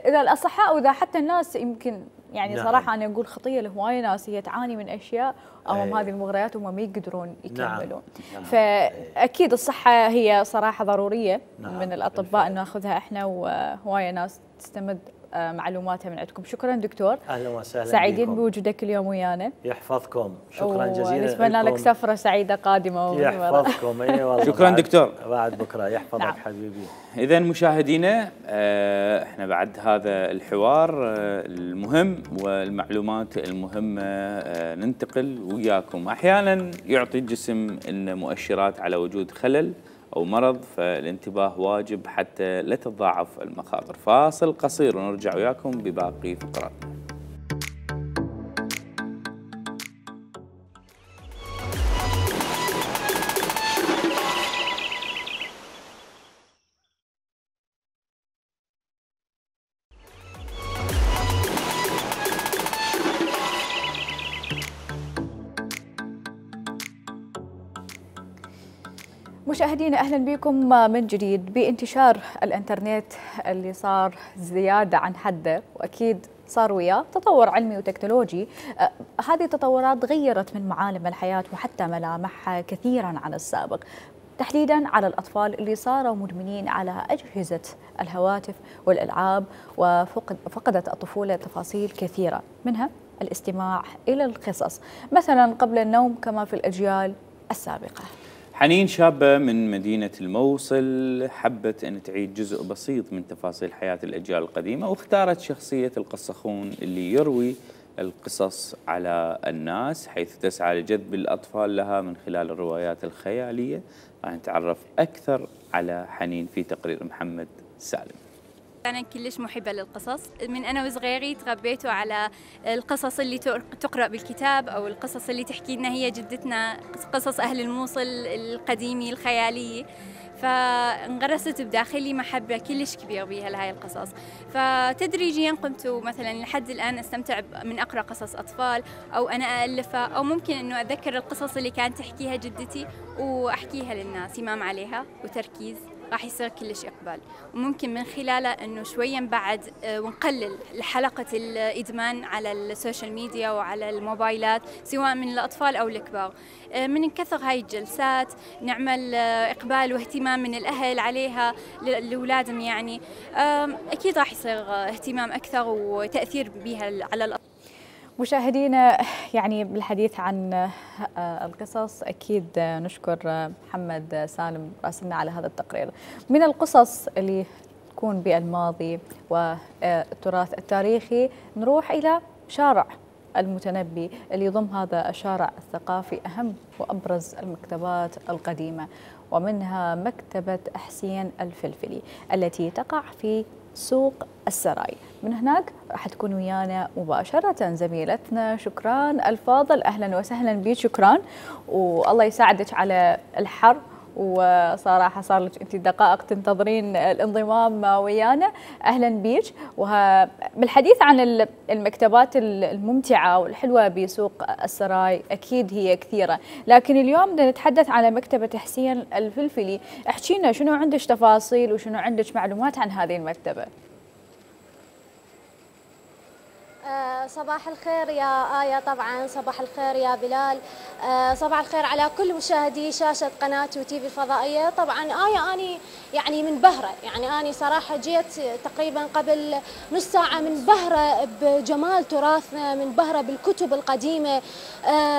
اذا الاصحاء واذا حتى الناس يمكن يعني نعم. صراحه انا اقول خطيه لهوايه ناس هي تعاني من اشياء امام هذه المغريات وهم ما يقدرون يكملون. نعم. فاكيد الصحه هي صراحه ضروريه. نعم. من الاطباء ان ناخذها احنا، وهوايه ناس تستمد معلوماتها من عندكم. شكرا دكتور، اهلا وسهلا، سعيدين بوجودك اليوم ويانا. يحفظكم، شكرا جزيلا، نتمنى لك سفره سعيده قادمه. يحفظكم. اي والله شكرا دكتور، بعد بكره يحفظك. نعم. حبيبي. اذا مشاهدينا احنا بعد هذا الحوار المهم والمعلومات المهمه ننتقل وياكم. احيانا يعطي الجسم لنا مؤشرات على وجود خلل أو مرض، فالانتباه واجب حتى لا تتضاعف المخاطر. فاصل قصير ونرجع وياكم بباقي فقراتنا. مشاهدينا اهلا بكم من جديد. بانتشار الانترنت اللي صار زياده عن حده، واكيد صار وياه تطور علمي وتكنولوجي، هذه التطورات غيرت من معالم الحياه وحتى ملامحها كثيرا عن السابق، تحديدا على الاطفال اللي صاروا مدمنين على اجهزه الهواتف والالعاب، وفقدت الطفوله تفاصيل كثيره منها الاستماع الى القصص مثلا قبل النوم كما في الاجيال السابقه. حنين شابة من مدينة الموصل حبت أن تعيد جزء بسيط من تفاصيل حياة الأجيال القديمة، واختارت شخصية القصخون اللي يروي القصص على الناس، حيث تسعى لجذب الأطفال لها من خلال الروايات الخيالية. راح نتعرف أكثر على حنين في تقرير محمد سالم. أنا كلش محبة للقصص، من أنا وصغيري تربيتوا على القصص اللي تقرأ بالكتاب أو القصص اللي تحكي لنا هي جدتنا، قصص أهل الموصل القديمي الخيالية، فانغرست بداخلي محبة كلش كبيرة بها لهاي القصص. فتدريجيا قمت مثلا لحد الآن أستمتع من أقرأ قصص أطفال أو أنا ألفها، أو ممكن أنه أتذكر القصص اللي كانت تحكيها جدتي وأحكيها للناس. إمام عليها وتركيز راح يصير كلش إقبال، وممكن من خلاله أنه شويا بعد ونقلل حلقة الإدمان على السوشيال ميديا وعلى الموبايلات سواء من الأطفال أو الكبار. من كثر هاي الجلسات نعمل إقبال واهتمام من الأهل عليها لأولادهم، يعني أكيد راح يصير اهتمام أكثر وتأثير بها على الأطفال. مشاهدينا يعني بالحديث عن القصص أكيد نشكر محمد سالم راسلنا على هذا التقرير. من القصص اللي تكون بالماضي والتراث التاريخي نروح إلى شارع المتنبي اللي يضم هذا الشارع الثقافي أهم وأبرز المكتبات القديمة، ومنها مكتبة حسين الفلفلي التي تقع في سوق السراي. من هناك راح تكون ويانا مباشرة زميلتنا شكران الفاضل. أهلا وسهلا بك شكران، والله يساعدك على الحر، وصراحة صار لك أنت دقائق تنتظرين الانضمام ويانا. أهلا بك. بالحديث عن المكتبات الممتعة والحلوة بسوق السراي أكيد هي كثيرة، لكن اليوم بدنا نتحدث على مكتبة حسين الفلفلي. احكينا شنو عندك تفاصيل وشنو عندك معلومات عن هذه المكتبة؟ صباح الخير يا آية، طبعا صباح الخير يا بلال، صباح الخير على كل مشاهدي شاشة قناة وتيفي الفضائية. طبعا آية أني يعني منبهرة، يعني أني صراحة جيت تقريبا قبل نص ساعة منبهرة بجمال تراثنا، منبهرة بالكتب القديمة،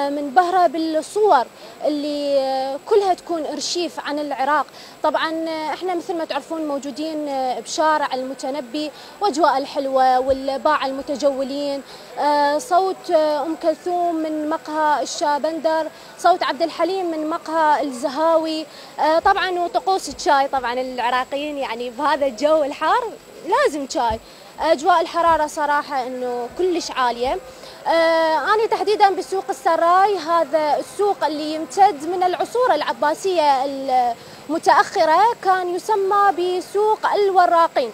منبهرة بالصور اللي كلها تكون أرشيف عن العراق. طبعا احنا مثل ما تعرفون موجودين بشارع المتنبي، واجواء الحلوة والباعة المتجولين المرسلين، صوت أم كلثوم من مقهى الشابندر، صوت عبد الحليم من مقهى الزهاوي، طبعا وطقوس الشاي. طبعا العراقيين يعني بهذا الجو الحار لازم شاي. أجواء الحرارة صراحة أنه كلش عالية. أنا تحديدا بسوق السراي، هذا السوق اللي يمتد من العصور العباسية المتأخرة، كان يسمى بسوق الوراقين،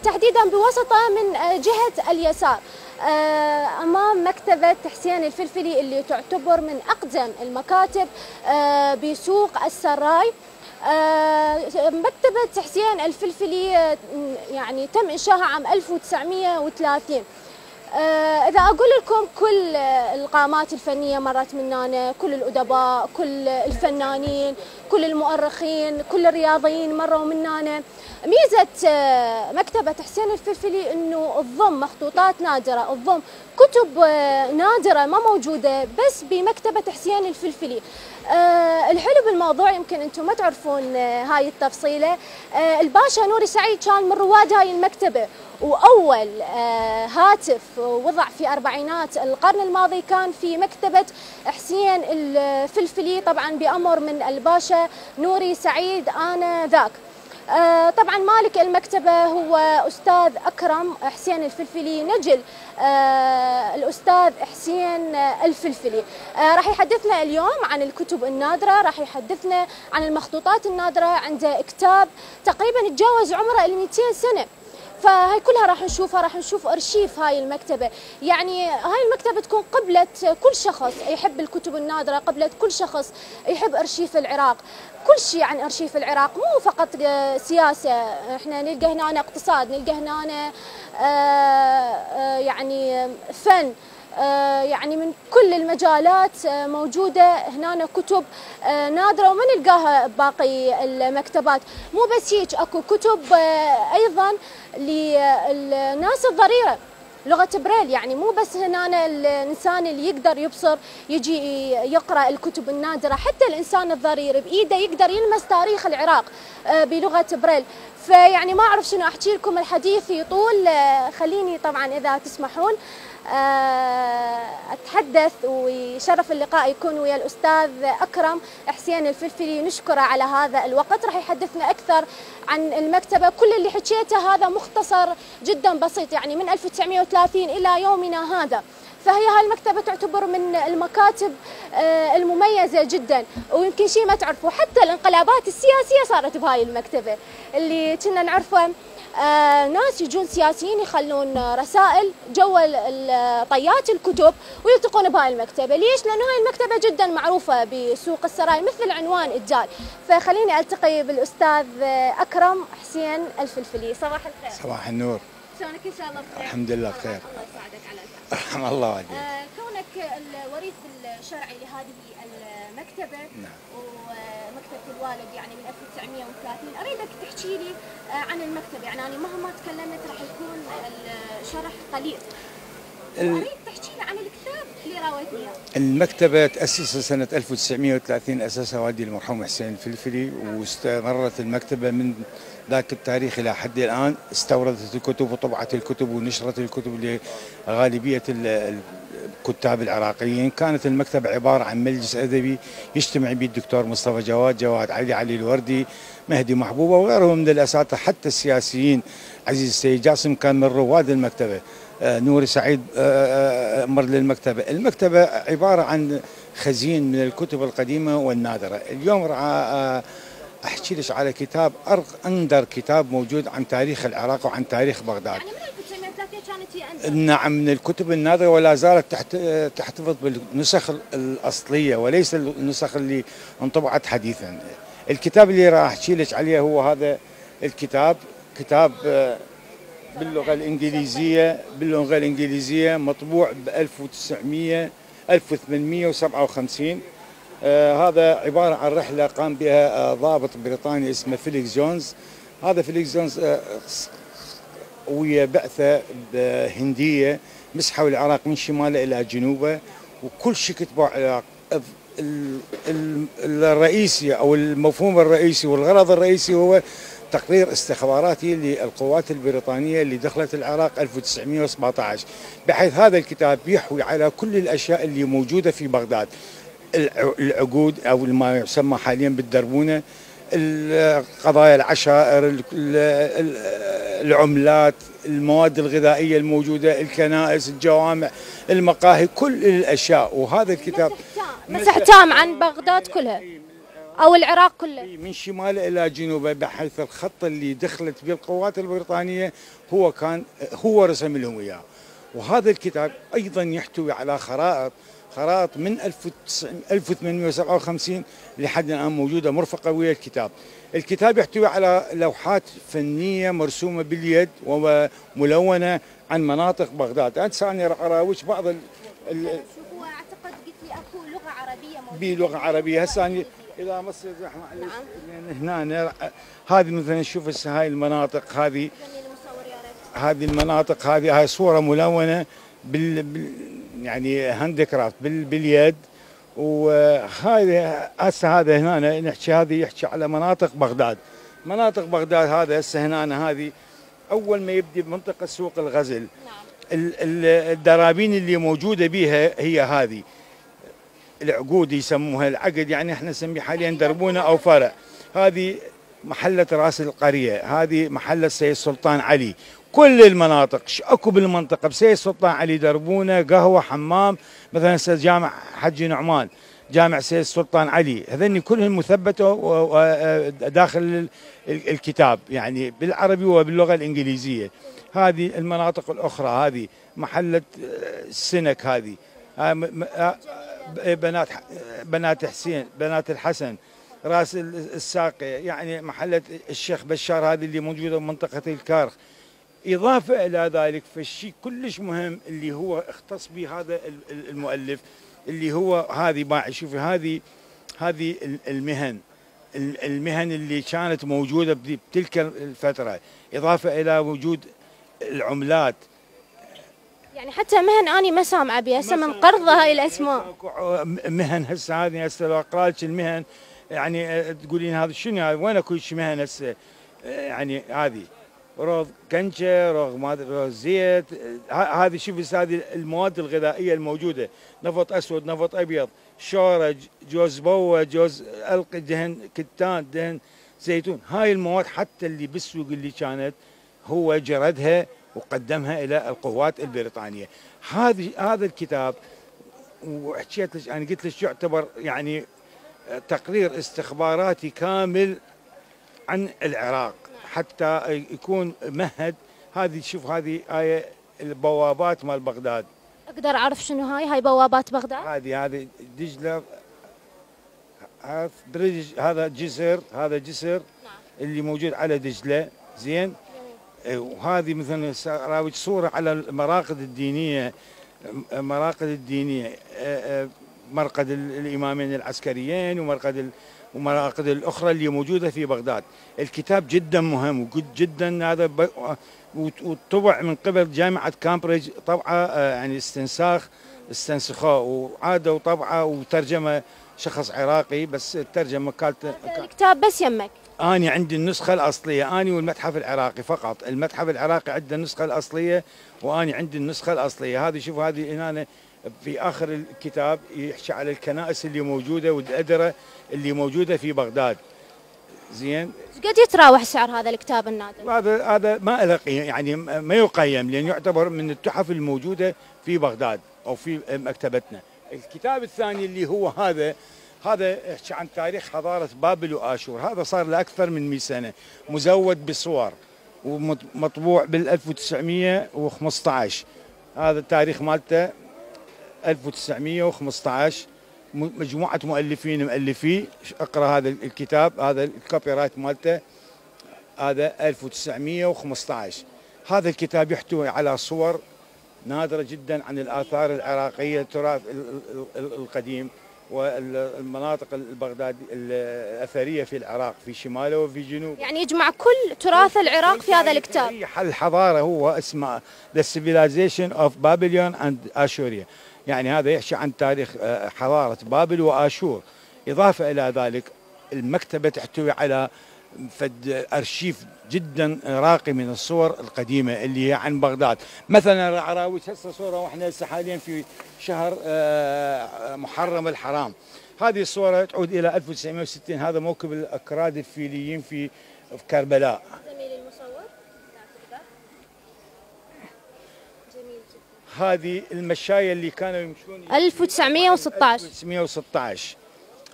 تحديدا بوسطه من جهة اليسار أمام مكتبة حسين الفلفلي اللي تعتبر من أقدم المكاتب بسوق السراي. مكتبة حسين الفلفلي يعني تم إنشائها عام 1930. إذا أقول لكم كل القامات الفنية مرت من هنا، كل الأدباء، كل الفنانين، كل المؤرخين، كل الرياضيين مروا من هنا. ميزة مكتبة حسين الفلفلي أنه تضم مخطوطات نادرة، تضم كتب نادرة ما موجودة بس بمكتبة حسين الفلفلي. الحلو بالموضوع يمكن أنتم ما تعرفون هاي التفصيلة، الباشا نوري سعيد كان من رواد هاي المكتبة، وأول هاتف وضع في أربعينات القرن الماضي كان في مكتبة حسين الفلفلي، طبعا بأمر من الباشا نوري سعيد آنذاك. طبعا مالك المكتبة هو أستاذ أكرم حسين الفلفلي، نجل الأستاذ حسين الفلفلي. راح يحدثنا اليوم عن الكتب النادرة، راح يحدثنا عن المخطوطات النادرة. عنده كتاب تقريبا يتجاوز عمره 200 سنة، فهاي كلها راح نشوفها، راح نشوف أرشيف هاي المكتبة. يعني هاي المكتبة تكون قبلة كل شخص يحب الكتب النادرة، قبلة كل شخص يحب أرشيف العراق، كل شيء عن أرشيف العراق، مو فقط سياسة، احنا نلقى هنا اقتصاد، نلقى هنا يعني فن، يعني من كل المجالات موجودة هنا كتب نادرة وما نلقاها باقي المكتبات. مو بس هيك، اكو كتب ايضا للناس الضريرة، لغة بريل، يعني مو بس هنا الإنسان اللي يقدر يبصر يجي يقرأ الكتب النادرة، حتى الإنسان الضرير بإيده يقدر يلمس تاريخ العراق بلغة بريل. فيعني ما أعرف شنو أحكي لكم، الحديث يطول، خليني طبعا إذا تسمحون أتحدث، ويشرف اللقاء يكون ويا الأستاذ أكرم حسين الفلفلي، نشكره على هذا الوقت. راح يحدثنا أكثر عن المكتبة. كل اللي حكيته هذا مختصر جدا بسيط، يعني من 1930 إلى يومنا هذا. فهي هاي المكتبة تعتبر من المكاتب المميزة جدا. ويمكن شيء ما تعرفوا، حتى الانقلابات السياسية صارت بهاي المكتبة، اللي كنا نعرفه ناس يجون سياسيين يخلون رسائل جوا طيات الكتب ويلتقون بهاي المكتبة. ليش؟ لأنه هاي المكتبة جدا معروفة بسوق السراي مثل عنوان الدال. فخليني ألتقي بالأستاذ أكرم حسين الفلفلي. صباح الخير. صباح النور. شلونك؟ إن شاء الله بخير. الحمد لله بخير. الله يساعدك على الفهم. الله يعافيك. كونك الوريث الشرعي لهذه المكتبة، نعم، ومكتبة الوالد يعني من 1930، أريدك تحكي لي عن المكتبة. يعني أنا مهما تكلمت راح يكون الشرح قليل، وأريد تحكي لي عن الكتاب اللي راويتني إياه. المكتبة تأسست سنة 1930، أسسها والدي المرحوم حسين الفلفلي، واستمرت المكتبة من ذاك التاريخ إلى حد الآن. استوردت الكتب وطبعت الكتب ونشرت الكتب لغالبية الكتاب العراقيين. كانت المكتبة عبارة عن مجلس أدبي يجتمع به الدكتور مصطفى جواد علي الوردي، مهدي محبوبة وغيرهم من الأساتذة، حتى السياسيين. عزيز السيد جاسم كان من رواد المكتبة، نوري سعيد مر للمكتبة. المكتبة عبارة عن خزين من الكتب القديمة والنادرة. اليوم راح أحكي لك على كتاب أندر كتاب موجود عن تاريخ العراق وعن تاريخ بغداد. يعني من 1930 كانت هي أندر؟ نعم، من الكتب النادرة، ولا زالت تحتفظ بالنسخ الأصلية وليس النسخ اللي انطبعت حديثا. الكتاب اللي راح أحكي لك عليه هو هذا الكتاب، كتاب باللغة الإنجليزية مطبوع ب 1857. هذا عبارة عن رحلة قام بها ضابط بريطاني اسمه فيليكس جونز. هذا فيليكس جونز ويا بعثة هندية مسحوا العراق من شماله إلى جنوبه، وكل شيء كتبوا العراق. الرئيسي أو المفهوم الرئيسي والغرض الرئيسي هو تقرير استخباراتي للقوات البريطانية اللي دخلت العراق 1917، بحيث هذا الكتاب يحوي على كل الأشياء اللي موجودة في بغداد، العقود أو ما يسمى حاليا بالدربونة، قضايا العشائر، العملات، المواد الغذائية الموجودة، الكنائس، الجوامع، المقاهي، كل الأشياء. وهذا الكتاب مسح تام عن بغداد كلها أو العراق كله من شماله إلى جنوبه، بحيث الخط اللي دخلت به القوات البريطانية هو رسم لهم إياه. وهذا الكتاب أيضا يحتوي على خرائط من 1857 لحد الآن موجودة مرفقة ويا الكتاب. الكتاب يحتوي على لوحات فنية مرسومة باليد وملونة عن مناطق بغداد. أنا راح أراوج بعض هو أعتقد قلت لي أكو لغة عربية موجودة بلغة عربية. هسه إذا مصر معلش هنا هذه مثلا نشوف هسه هاي المناطق، هذه المناطق، هاي صورة ملونة يعني هاند كرافت باليد. وهذا هسه هذا هنا نحكي، هذه يحكي على مناطق بغداد. مناطق بغداد هذا هسه هنا هذه اول ما يبدي بمنطقه سوق الغزل. الدرابين اللي موجوده بها هي هذه العقود يسموها، العقد يعني احنا نسميه حاليا دربونه او فرع. هذه محله راس القريه، هذه محله سيد سلطان علي. كل المناطق اكو بالمنطقه بسيد سلطان علي دربونه، قهوه، حمام، مثلا جامع حجي نعمان، جامع سيد سلطان علي، هذني كلهم مثبته داخل الكتاب يعني بالعربي وباللغه الانجليزيه. هذه المناطق الاخرى، هذه محله السنك، هذه بنات حسين، بنات الحسن، راس الساقي، يعني محله الشيخ بشار هذه اللي موجوده بمنطقه الكارخ. إضافة إلى ذلك فالشيء كلش مهم اللي هو اختص به هذا المؤلف، اللي هو هذه باعي شوفي هذه المهن اللي كانت موجودة بتلك الفترة، إضافة إلى وجود العملات. يعني حتى مهن أني ما سامعة بها هسه من قرض هاي الأسماء. مهن هسه لو أقرأ لك المهن يعني تقولين هذا شنو، هذا وين اكو مهن هسه؟ يعني هذه روض كنشة، روض زيت، هذه شوف هذه المواد الغذائية الموجودة، نفط أسود، نفط أبيض، شورة، جوز بوة، جوز ألق، دهن كتان، دهن زيتون. هاي المواد حتى اللي بالسوق اللي كانت هو جردها وقدمها إلى القوات البريطانية. هذا الكتاب وحكيت لك أنا قلت لك يعتبر يعني تقرير استخباراتي كامل عن العراق حتى يكون مهد. هذه شوف هذه آية البوابات مال بغداد. اقدر اعرف شنو هاي بوابات بغداد؟ هذه دجله، هذا جسر، هذا جسر اللي موجود على دجله، زين. وهذه مثلا راوج صوره على المراقد الدينيه، مرقد الامامين العسكريين ومراقد الاخرى اللي موجوده في بغداد. الكتاب جدا مهم وجدا هذا وطبع من قبل جامعه كامبريدج، طبعه يعني استنسخوه وعاده وطبعه وترجمه شخص عراقي، بس الترجمه كانت الكتاب بس يمك. أنا عندي النسخة الأصلية، أنا والمتحف العراقي فقط. المتحف العراقي عنده النسخة الأصلية وأنا عندي النسخة الأصلية. هذه شوف هذه هنا في آخر الكتاب يحكي على الكنائس اللي موجودة والأدرة اللي موجودة في بغداد، زين. قد يتراوح سعر هذا الكتاب النادر؟ هذا ما له يعني ما يقيم، لأن يعتبر من التحف الموجودة في بغداد أو في مكتبتنا. الكتاب الثاني اللي هو هذا يحكي عن تاريخ حضارة بابل وآشور. هذا صار له أكثر من 100 سنة، مزود بصور ومطبوع بال 1915. هذا التاريخ مالته 1915. مجموعة مؤلفيه. اقرأ هذا الكتاب، هذا الكوبي رايت مالته، هذا 1915. هذا الكتاب يحتوي على صور نادرة جدا عن الآثار العراقية، التراث القديم والمناطق البغداد الأثرية في العراق، في شماله وفي جنوبه. يعني يجمع كل تراث العراق في هذا الكتاب. الحضارة هو اسمه The Civilization of Babylon and Assyria. يعني هذا يحكي عن تاريخ حضارة بابل وآشور. إضافة إلى ذلك المكتبة تحتوي على فد ارشيف جدا راقي من الصور القديمه اللي هي عن بغداد. مثلا العراويش هسه صوره واحنا هسه حاليا في شهر محرم الحرام. هذه الصوره تعود الى 1960. هذا موكب الاكراد الفيليين في كربلاء. زميلي المصور جميل جدا. هذه المشايه اللي كانوا يمشون 1916. 1916.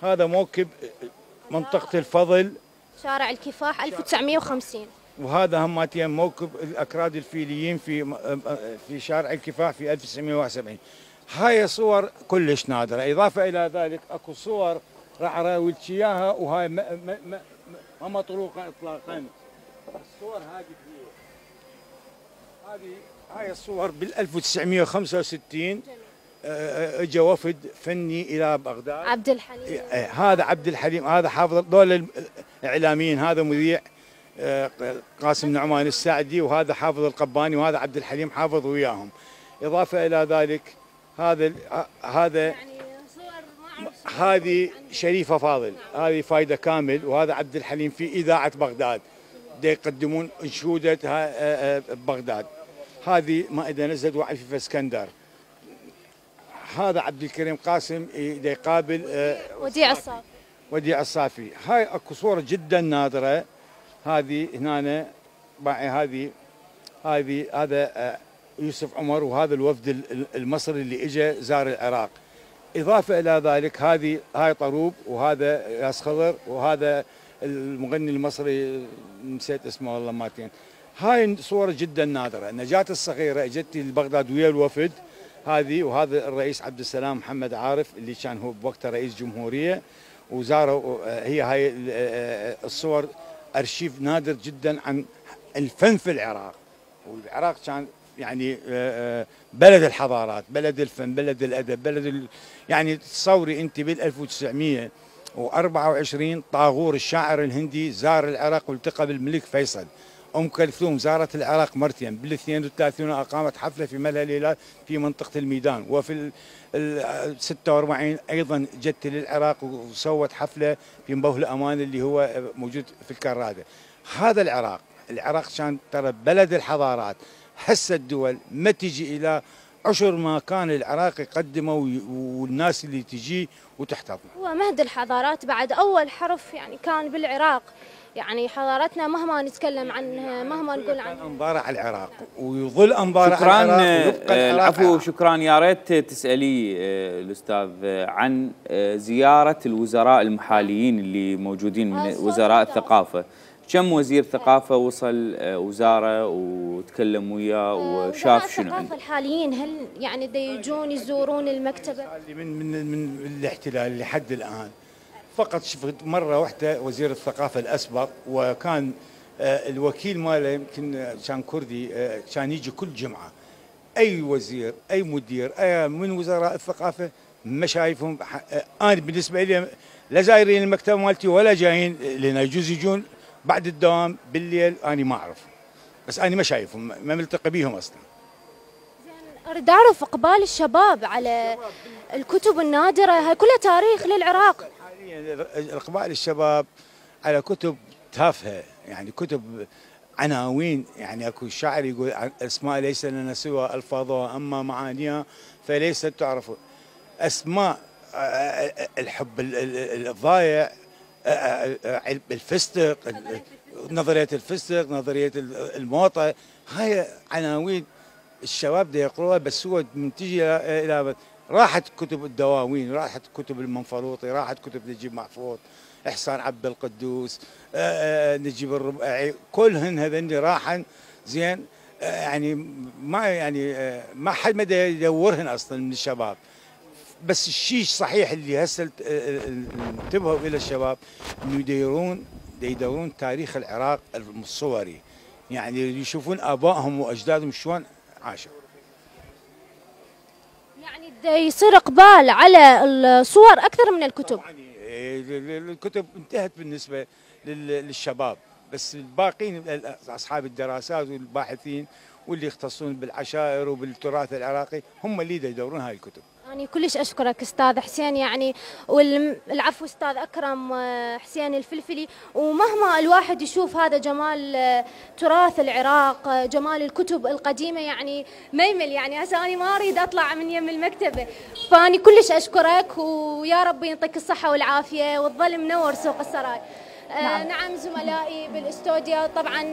هذا موكب منطقه الفضل شارع الكفاح 1950. وهذا هماتين موكب الاكراد الفيليين في شارع الكفاح في 1971. هاي صور كلش نادره. اضافه الى ذلك اكو صور راح اراويك اياها وهاي ما مطروقه اطلاقا. الصور هاي الصور بال 1965 اجى وفد فني الى بغداد. عبد الحليم. هذا عبد الحليم، هذا حافظ. دول الاعلاميين، هذا مذيع قاسم نعمان السعدي، وهذا حافظ القباني، وهذا عبد الحليم حافظ وياهم. اضافه الى ذلك هذا يعني صور هذه شريفه فاضل، هذه فايده كامل، وهذا عبد الحليم في اذاعه بغداد يقدمون انشوده بغداد. هذه مائده نزلت وعي في اسكندر. هذا عبد الكريم قاسم يقابل وديع الصافي. هاي اكو صوره جدا نادره. هذه هنا باعي هذا يوسف عمر، وهذا الوفد المصري اللي اجى زار العراق. اضافه الى ذلك هاي طروب، وهذا ياس خضر، وهذا المغني المصري نسيت اسمه والله ماتين. هاي صور جدا نادره. نجاة الصغيره اجت لبغداد ويا الوفد هذه، وهذا الرئيس عبد السلام محمد عارف اللي كان هو بوقتها رئيس جمهوريه وزاروا. هاي الصور ارشيف نادر جدا عن الفن في العراق. والعراق كان يعني بلد الحضارات، بلد الفن، بلد الادب، يعني تصوري انت بال 1924 طاغور الشاعر الهندي زار العراق والتقى بالملك فيصل. ام كلثوم زارت العراق مرتين، بال 32 اقامت حفله في ملهى الهلال في منطقه الميدان، وفي ال 46 ايضا جت للعراق وسوت حفله في مبوه الامان اللي هو موجود في الكراده. هذا العراق كان ترى بلد الحضارات. هسه الدول ما تجي الى عشر ما كان العراق يقدمه والناس اللي تجي وتحتضنه. هو مهد الحضارات بعد اول حرف يعني كان بالعراق. يعني حضارتنا مهما نتكلم عنها، مهما نقول عنها، انظاره على العراق ويظل انظاره على العراق. شكرا. العفو، شكرا. يا ريت تسالي الاستاذ عن زياره الوزراء المحاليين اللي موجودين من وزراء الثقافه. كم وزير ثقافه وصل وزاره وتكلم وياه وشاف شنو عنده؟ الثقافه الحاليين هل يعني يجون يزورون المكتبه؟ من الاحتلال لحد الان فقط شفت مره واحده وزير الثقافه الاسبق، وكان الوكيل ماله يمكن كان كردي، كان يجي كل جمعه. اي وزير اي مدير اي من وزراء الثقافه ما شايفهم. انا بالنسبه لي لا زايرين المكتبه مالتي ولا جايين لنا، يجوز يجون بعد الدوام بالليل، انا ما اعرف، بس انا ما شايفهم، ما ملتقي بيهم اصلا. زين، اريد اعرف اقبال الشباب على الكتب النادره، هاي كلها تاريخ للعراق. حاليا اقبال الشباب على كتب تافهه، يعني كتب عناوين. يعني اكو شاعر يقول اسماء ليس لنا سوى الفاظها، اما معانيها فليست تعرف. اسماء الحب الضايع، الفستق، نظريه الفستق، نظريه الموطه، هاي عناوين الشباب دا يقروها. بس هو من تجي الى راحت كتب الدواوين، راحت كتب المنفلوطي، راحت كتب نجيب محفوظ، احسان عبد القدوس، نجيب الرباعي، كلهن هذني راحن. زين، يعني ما حد ما يدورهن اصلا من الشباب. بس الشيء صحيح اللي هسه انتبهوا الى الشباب انه يدورون تاريخ العراق الصوري، يعني يشوفون ابائهم واجدادهم شلون عاشوا. يعني يصير اقبال على الصور اكثر من الكتب. الكتب انتهت بالنسبه للشباب، بس الباقين اصحاب الدراسات والباحثين واللي يختصون بالعشائر وبالتراث العراقي هم اللي يدورون هاي الكتب. يعني كلش أشكرك أستاذ حسين، يعني والعفو أستاذ أكرم حسين الفلفلي. ومهما الواحد يشوف هذا جمال تراث العراق، جمال الكتب القديمة، يعني ما يمل. يعني هسه أنا ما أريد أطلع من يم المكتبة، فأني كلش أشكرك، ويا رب يعطيك الصحة والعافية وتظل منور سوق السراي. نعم زملائي بالاستوديو، طبعا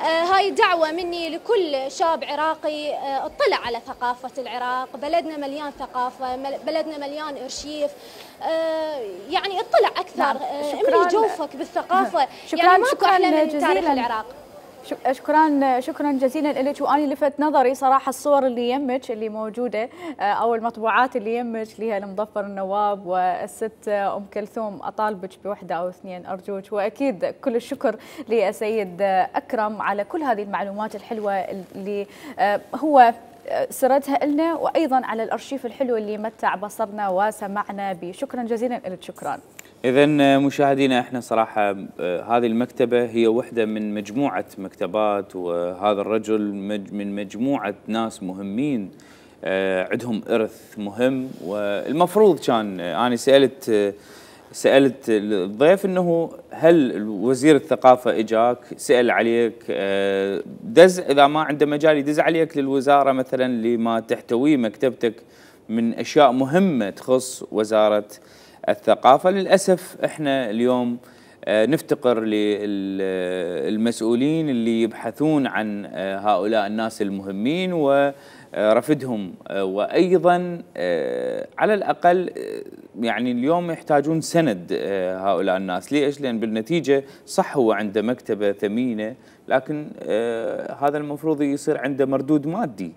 هاي دعوة مني لكل شاب عراقي اطلع على ثقافة العراق. بلدنا مليان ثقافة، بلدنا مليان ارشيف، يعني اطلع أكثر. املي جوفك بالثقافة. يعني ماكو أحلى من تاريخ العراق. شكرا جزيلا لك. واني لفت نظري صراحه الصور اللي يمك اللي موجوده او المطبوعات اللي يمك اللي هي المظفر النواب والست ام كلثوم. اطالبك بوحده او اثنين ارجوك. واكيد كل الشكر للسيد اكرم على كل هذه المعلومات الحلوه اللي هو سردها لنا، وايضا على الارشيف الحلو اللي متع بصرنا وسمعنا به. شكرا جزيلا لك. شكرا. إذا مشاهدينا، احنا صراحة هذه المكتبة هي واحدة من مجموعة مكتبات، وهذا الرجل من مجموعة ناس مهمين عندهم إرث مهم. والمفروض كان أنا سألت الضيف إنه هل وزير الثقافة إجاك سأل عليك دز إذا ما عنده مجال يدز عليك للوزارة مثلا لما تحتويه مكتبتك من أشياء مهمة تخص وزارة الثقافة. للأسف احنا اليوم نفتقر للمسؤولين اللي يبحثون عن هؤلاء الناس المهمين ورفدهم، وأيضا على الأقل يعني اليوم يحتاجون سند هؤلاء الناس. ليش؟ لأن بالنتيجة صح هو عنده مكتبة ثمينة، لكن هذا المفروض يصير عنده مردود مادي.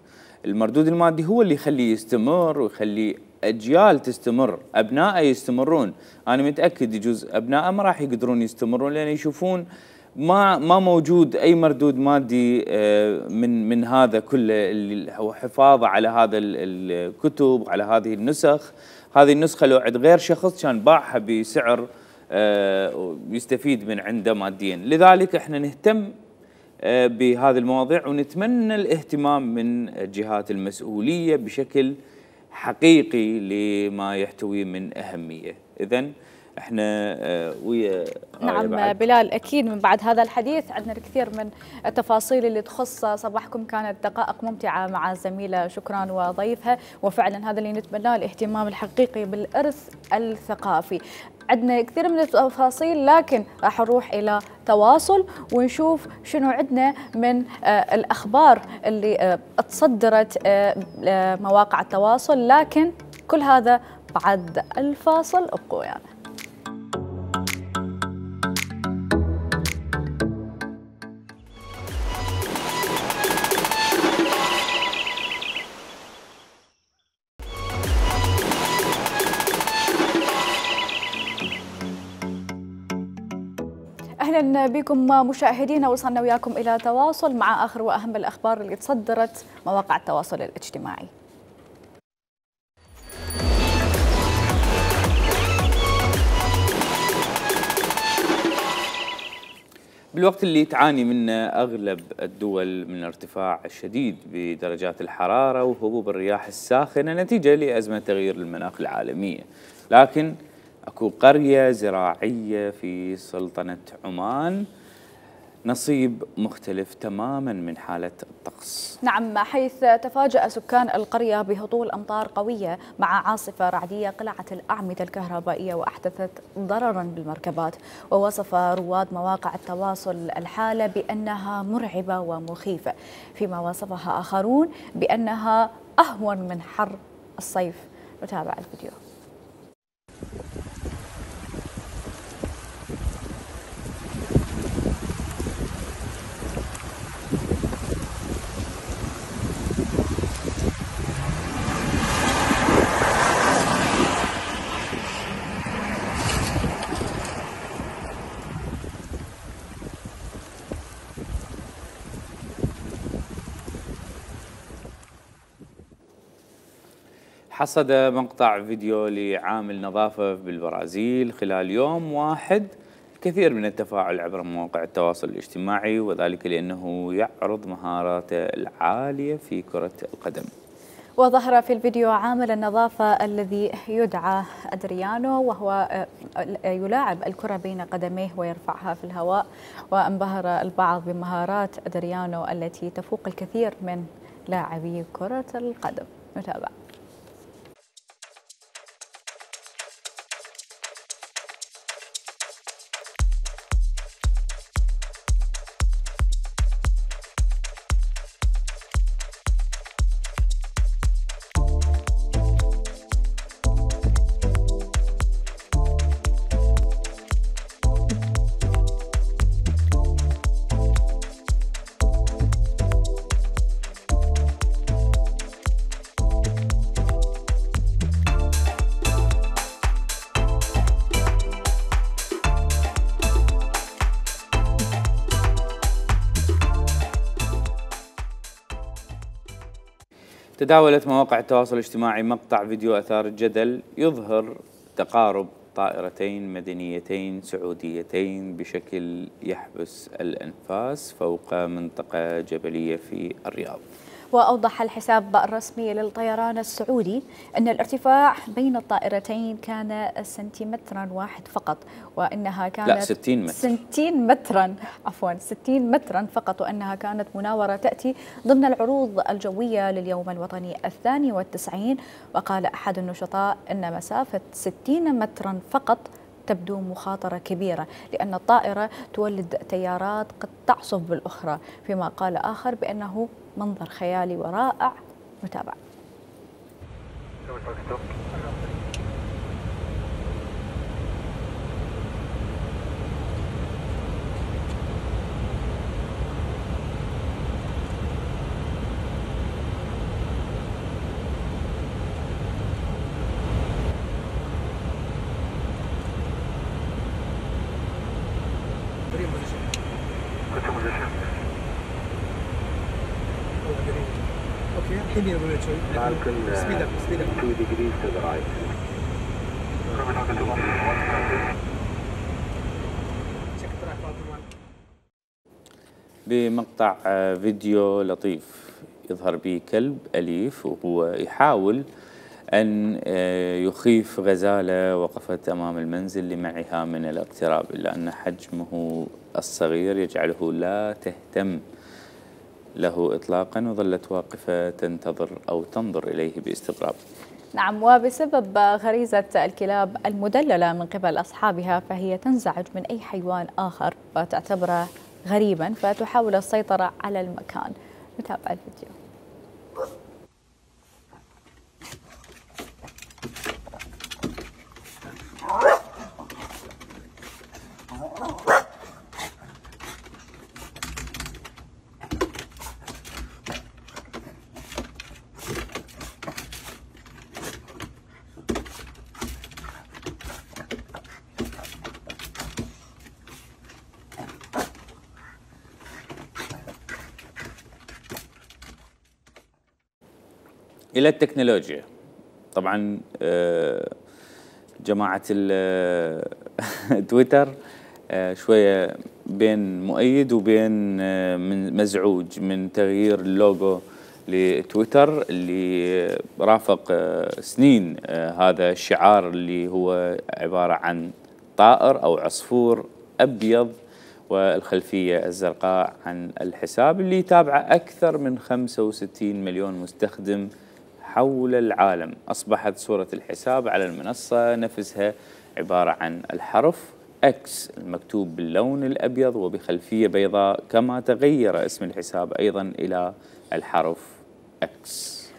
المردود المادي هو اللي يخليه يستمر ويخليه أجيال تستمر، أبنائه يستمرون. أنا متأكد يجوز أبنائه ما راح يقدرون يستمرون لأن يشوفون ما موجود أي مردود مادي من هذا كله، اللي هو حفاظه على هذا الكتب وعلى هذه النسخ. هذه النسخة لو عند غير شخص كان باعها بسعر يستفيد من عنده ماديا. لذلك احنا نهتم بهذه المواضيع ونتمنى الاهتمام من الجهات المسؤولية بشكل حقيقي لما يحتويه من أهمية. إذن احنا ويا نعم بلال، أكيد من بعد هذا الحديث عندنا الكثير من التفاصيل اللي تخص صباحكم. كانت دقائق ممتعة مع الزميلة شكران وضيفها، وفعلا هذا اللي نتمناه، الاهتمام الحقيقي بالإرث الثقافي. عندنا كثير من التفاصيل، لكن راح نروح إلى تواصل ونشوف شنو عندنا من الأخبار اللي تصدرت مواقع التواصل، لكن كل هذا بعد الفاصل. ابقوا ويانا. اهلا بكم مشاهدينا، وصلنا وياكم الى تواصل مع اخر واهم الاخبار اللي تصدرت مواقع التواصل الاجتماعي. بالوقت اللي تعاني منه أغلب الدول من ارتفاع الشديد بدرجات الحرارة وهبوب الرياح الساخنة نتيجة لأزمة تغيير المناخ العالمية، لكن أكو قرية زراعية في سلطنة عمان نصيب مختلف تماما من حالة الطقس. نعم، حيث تفاجأ سكان القرية بهطول أمطار قوية مع عاصفة رعدية قلعت الأعمدة الكهربائية وأحدثت ضررا بالمركبات. ووصف رواد مواقع التواصل الحالة بأنها مرعبة ومخيفة، فيما وصفها آخرون بأنها أهون من حر الصيف. نتابع الفيديو. حصد مقطع فيديو لعامل نظافة بالبرازيل خلال يوم واحد الكثير من التفاعل عبر مواقع التواصل الاجتماعي، وذلك لأنه يعرض مهاراته العالية في كرة القدم. وظهر في الفيديو عامل النظافة الذي يدعى أدريانو، وهو يلاعب الكرة بين قدميه ويرفعها في الهواء، وانبهر البعض بمهارات أدريانو التي تفوق الكثير من لاعبي كرة القدم. نتابع. تداولت مواقع التواصل الاجتماعي مقطع فيديو أثار الجدل يظهر تقارب طائرتين مدنيتين سعوديتين بشكل يحبس الأنفاس فوق منطقة جبلية في الرياض. وأوضح الحساب الرسمي للطيران السعودي أن الارتفاع بين الطائرتين كان سنتيمترا واحد فقط، وأنها كانت لا 60 متر 60 مترا عفوا 60 مترا فقط، وأنها كانت مناورة تأتي ضمن العروض الجوية لليوم الوطني 92. وقال أحد النشطاء أن مسافة 60 مترا فقط تبدو مخاطرة كبيرة لأن الطائرة تولد تيارات قد تعصف بالأخرى، فيما قال آخر بأنه منظر خيالي ورائع. نتابع. بمقطع فيديو لطيف يظهر به كلب أليف وهو يحاول أن يخيف غزالة وقفت أمام المنزل لمنعها من الاقتراب، إلا أن حجمه الصغير يجعله لا تهتم له إطلاقا، وظلت واقفة تنتظر أو تنظر إليه باستغراب. نعم، وبسبب غريزة الكلاب المدللة من قبل أصحابها فهي تنزعج من أي حيوان آخر وتعتبره غريبا فتحاول السيطرة على المكان. نتابع الفيديو. إلى التكنولوجيا. طبعا جماعة تويتر شوية بين مؤيد وبين من مزعوج من تغيير اللوجو لتويتر اللي رافق سنين هذا الشعار اللي هو عبارة عن طائر أو عصفور أبيض والخلفية الزرقاء عن الحساب اللي يتابعه أكثر من 65 مليون مستخدم حول العالم. أصبحت صورة الحساب على المنصة نفسها عبارة عن الحرف X المكتوب باللون الأبيض وبخلفية بيضاء، كما تغير اسم الحساب أيضا إلى الحرف X.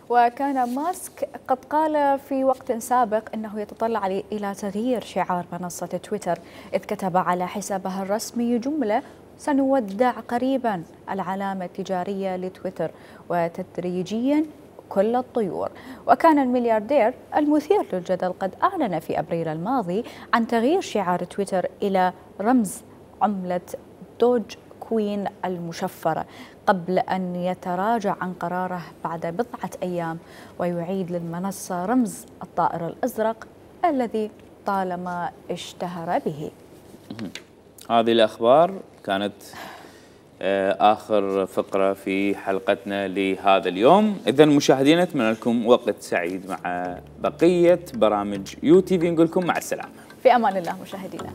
وكان ماسك قد قال في وقت سابق أنه يتطلع إلى تغيير شعار منصة تويتر، إذ كتب على حسابه الرسمي جملة: سنودع قريبا العلامة التجارية لتويتر وتدريجيا كل الطيور. وكان الملياردير المثير للجدل قد أعلن في أبريل الماضي عن تغيير شعار تويتر إلى رمز عملة دوج كوين المشفرة قبل أن يتراجع عن قراره بعد بضعة أيام ويعيد للمنصة رمز الطائر الأزرق الذي طالما اشتهر به. هذه الأخبار كانت آخر فقرة في حلقتنا لهذا اليوم. إذا مشاهدينا أتمنى لكم وقت سعيد مع بقية برامج UTV. نقول لكم مع السلامة. في أمان الله مشاهدينا.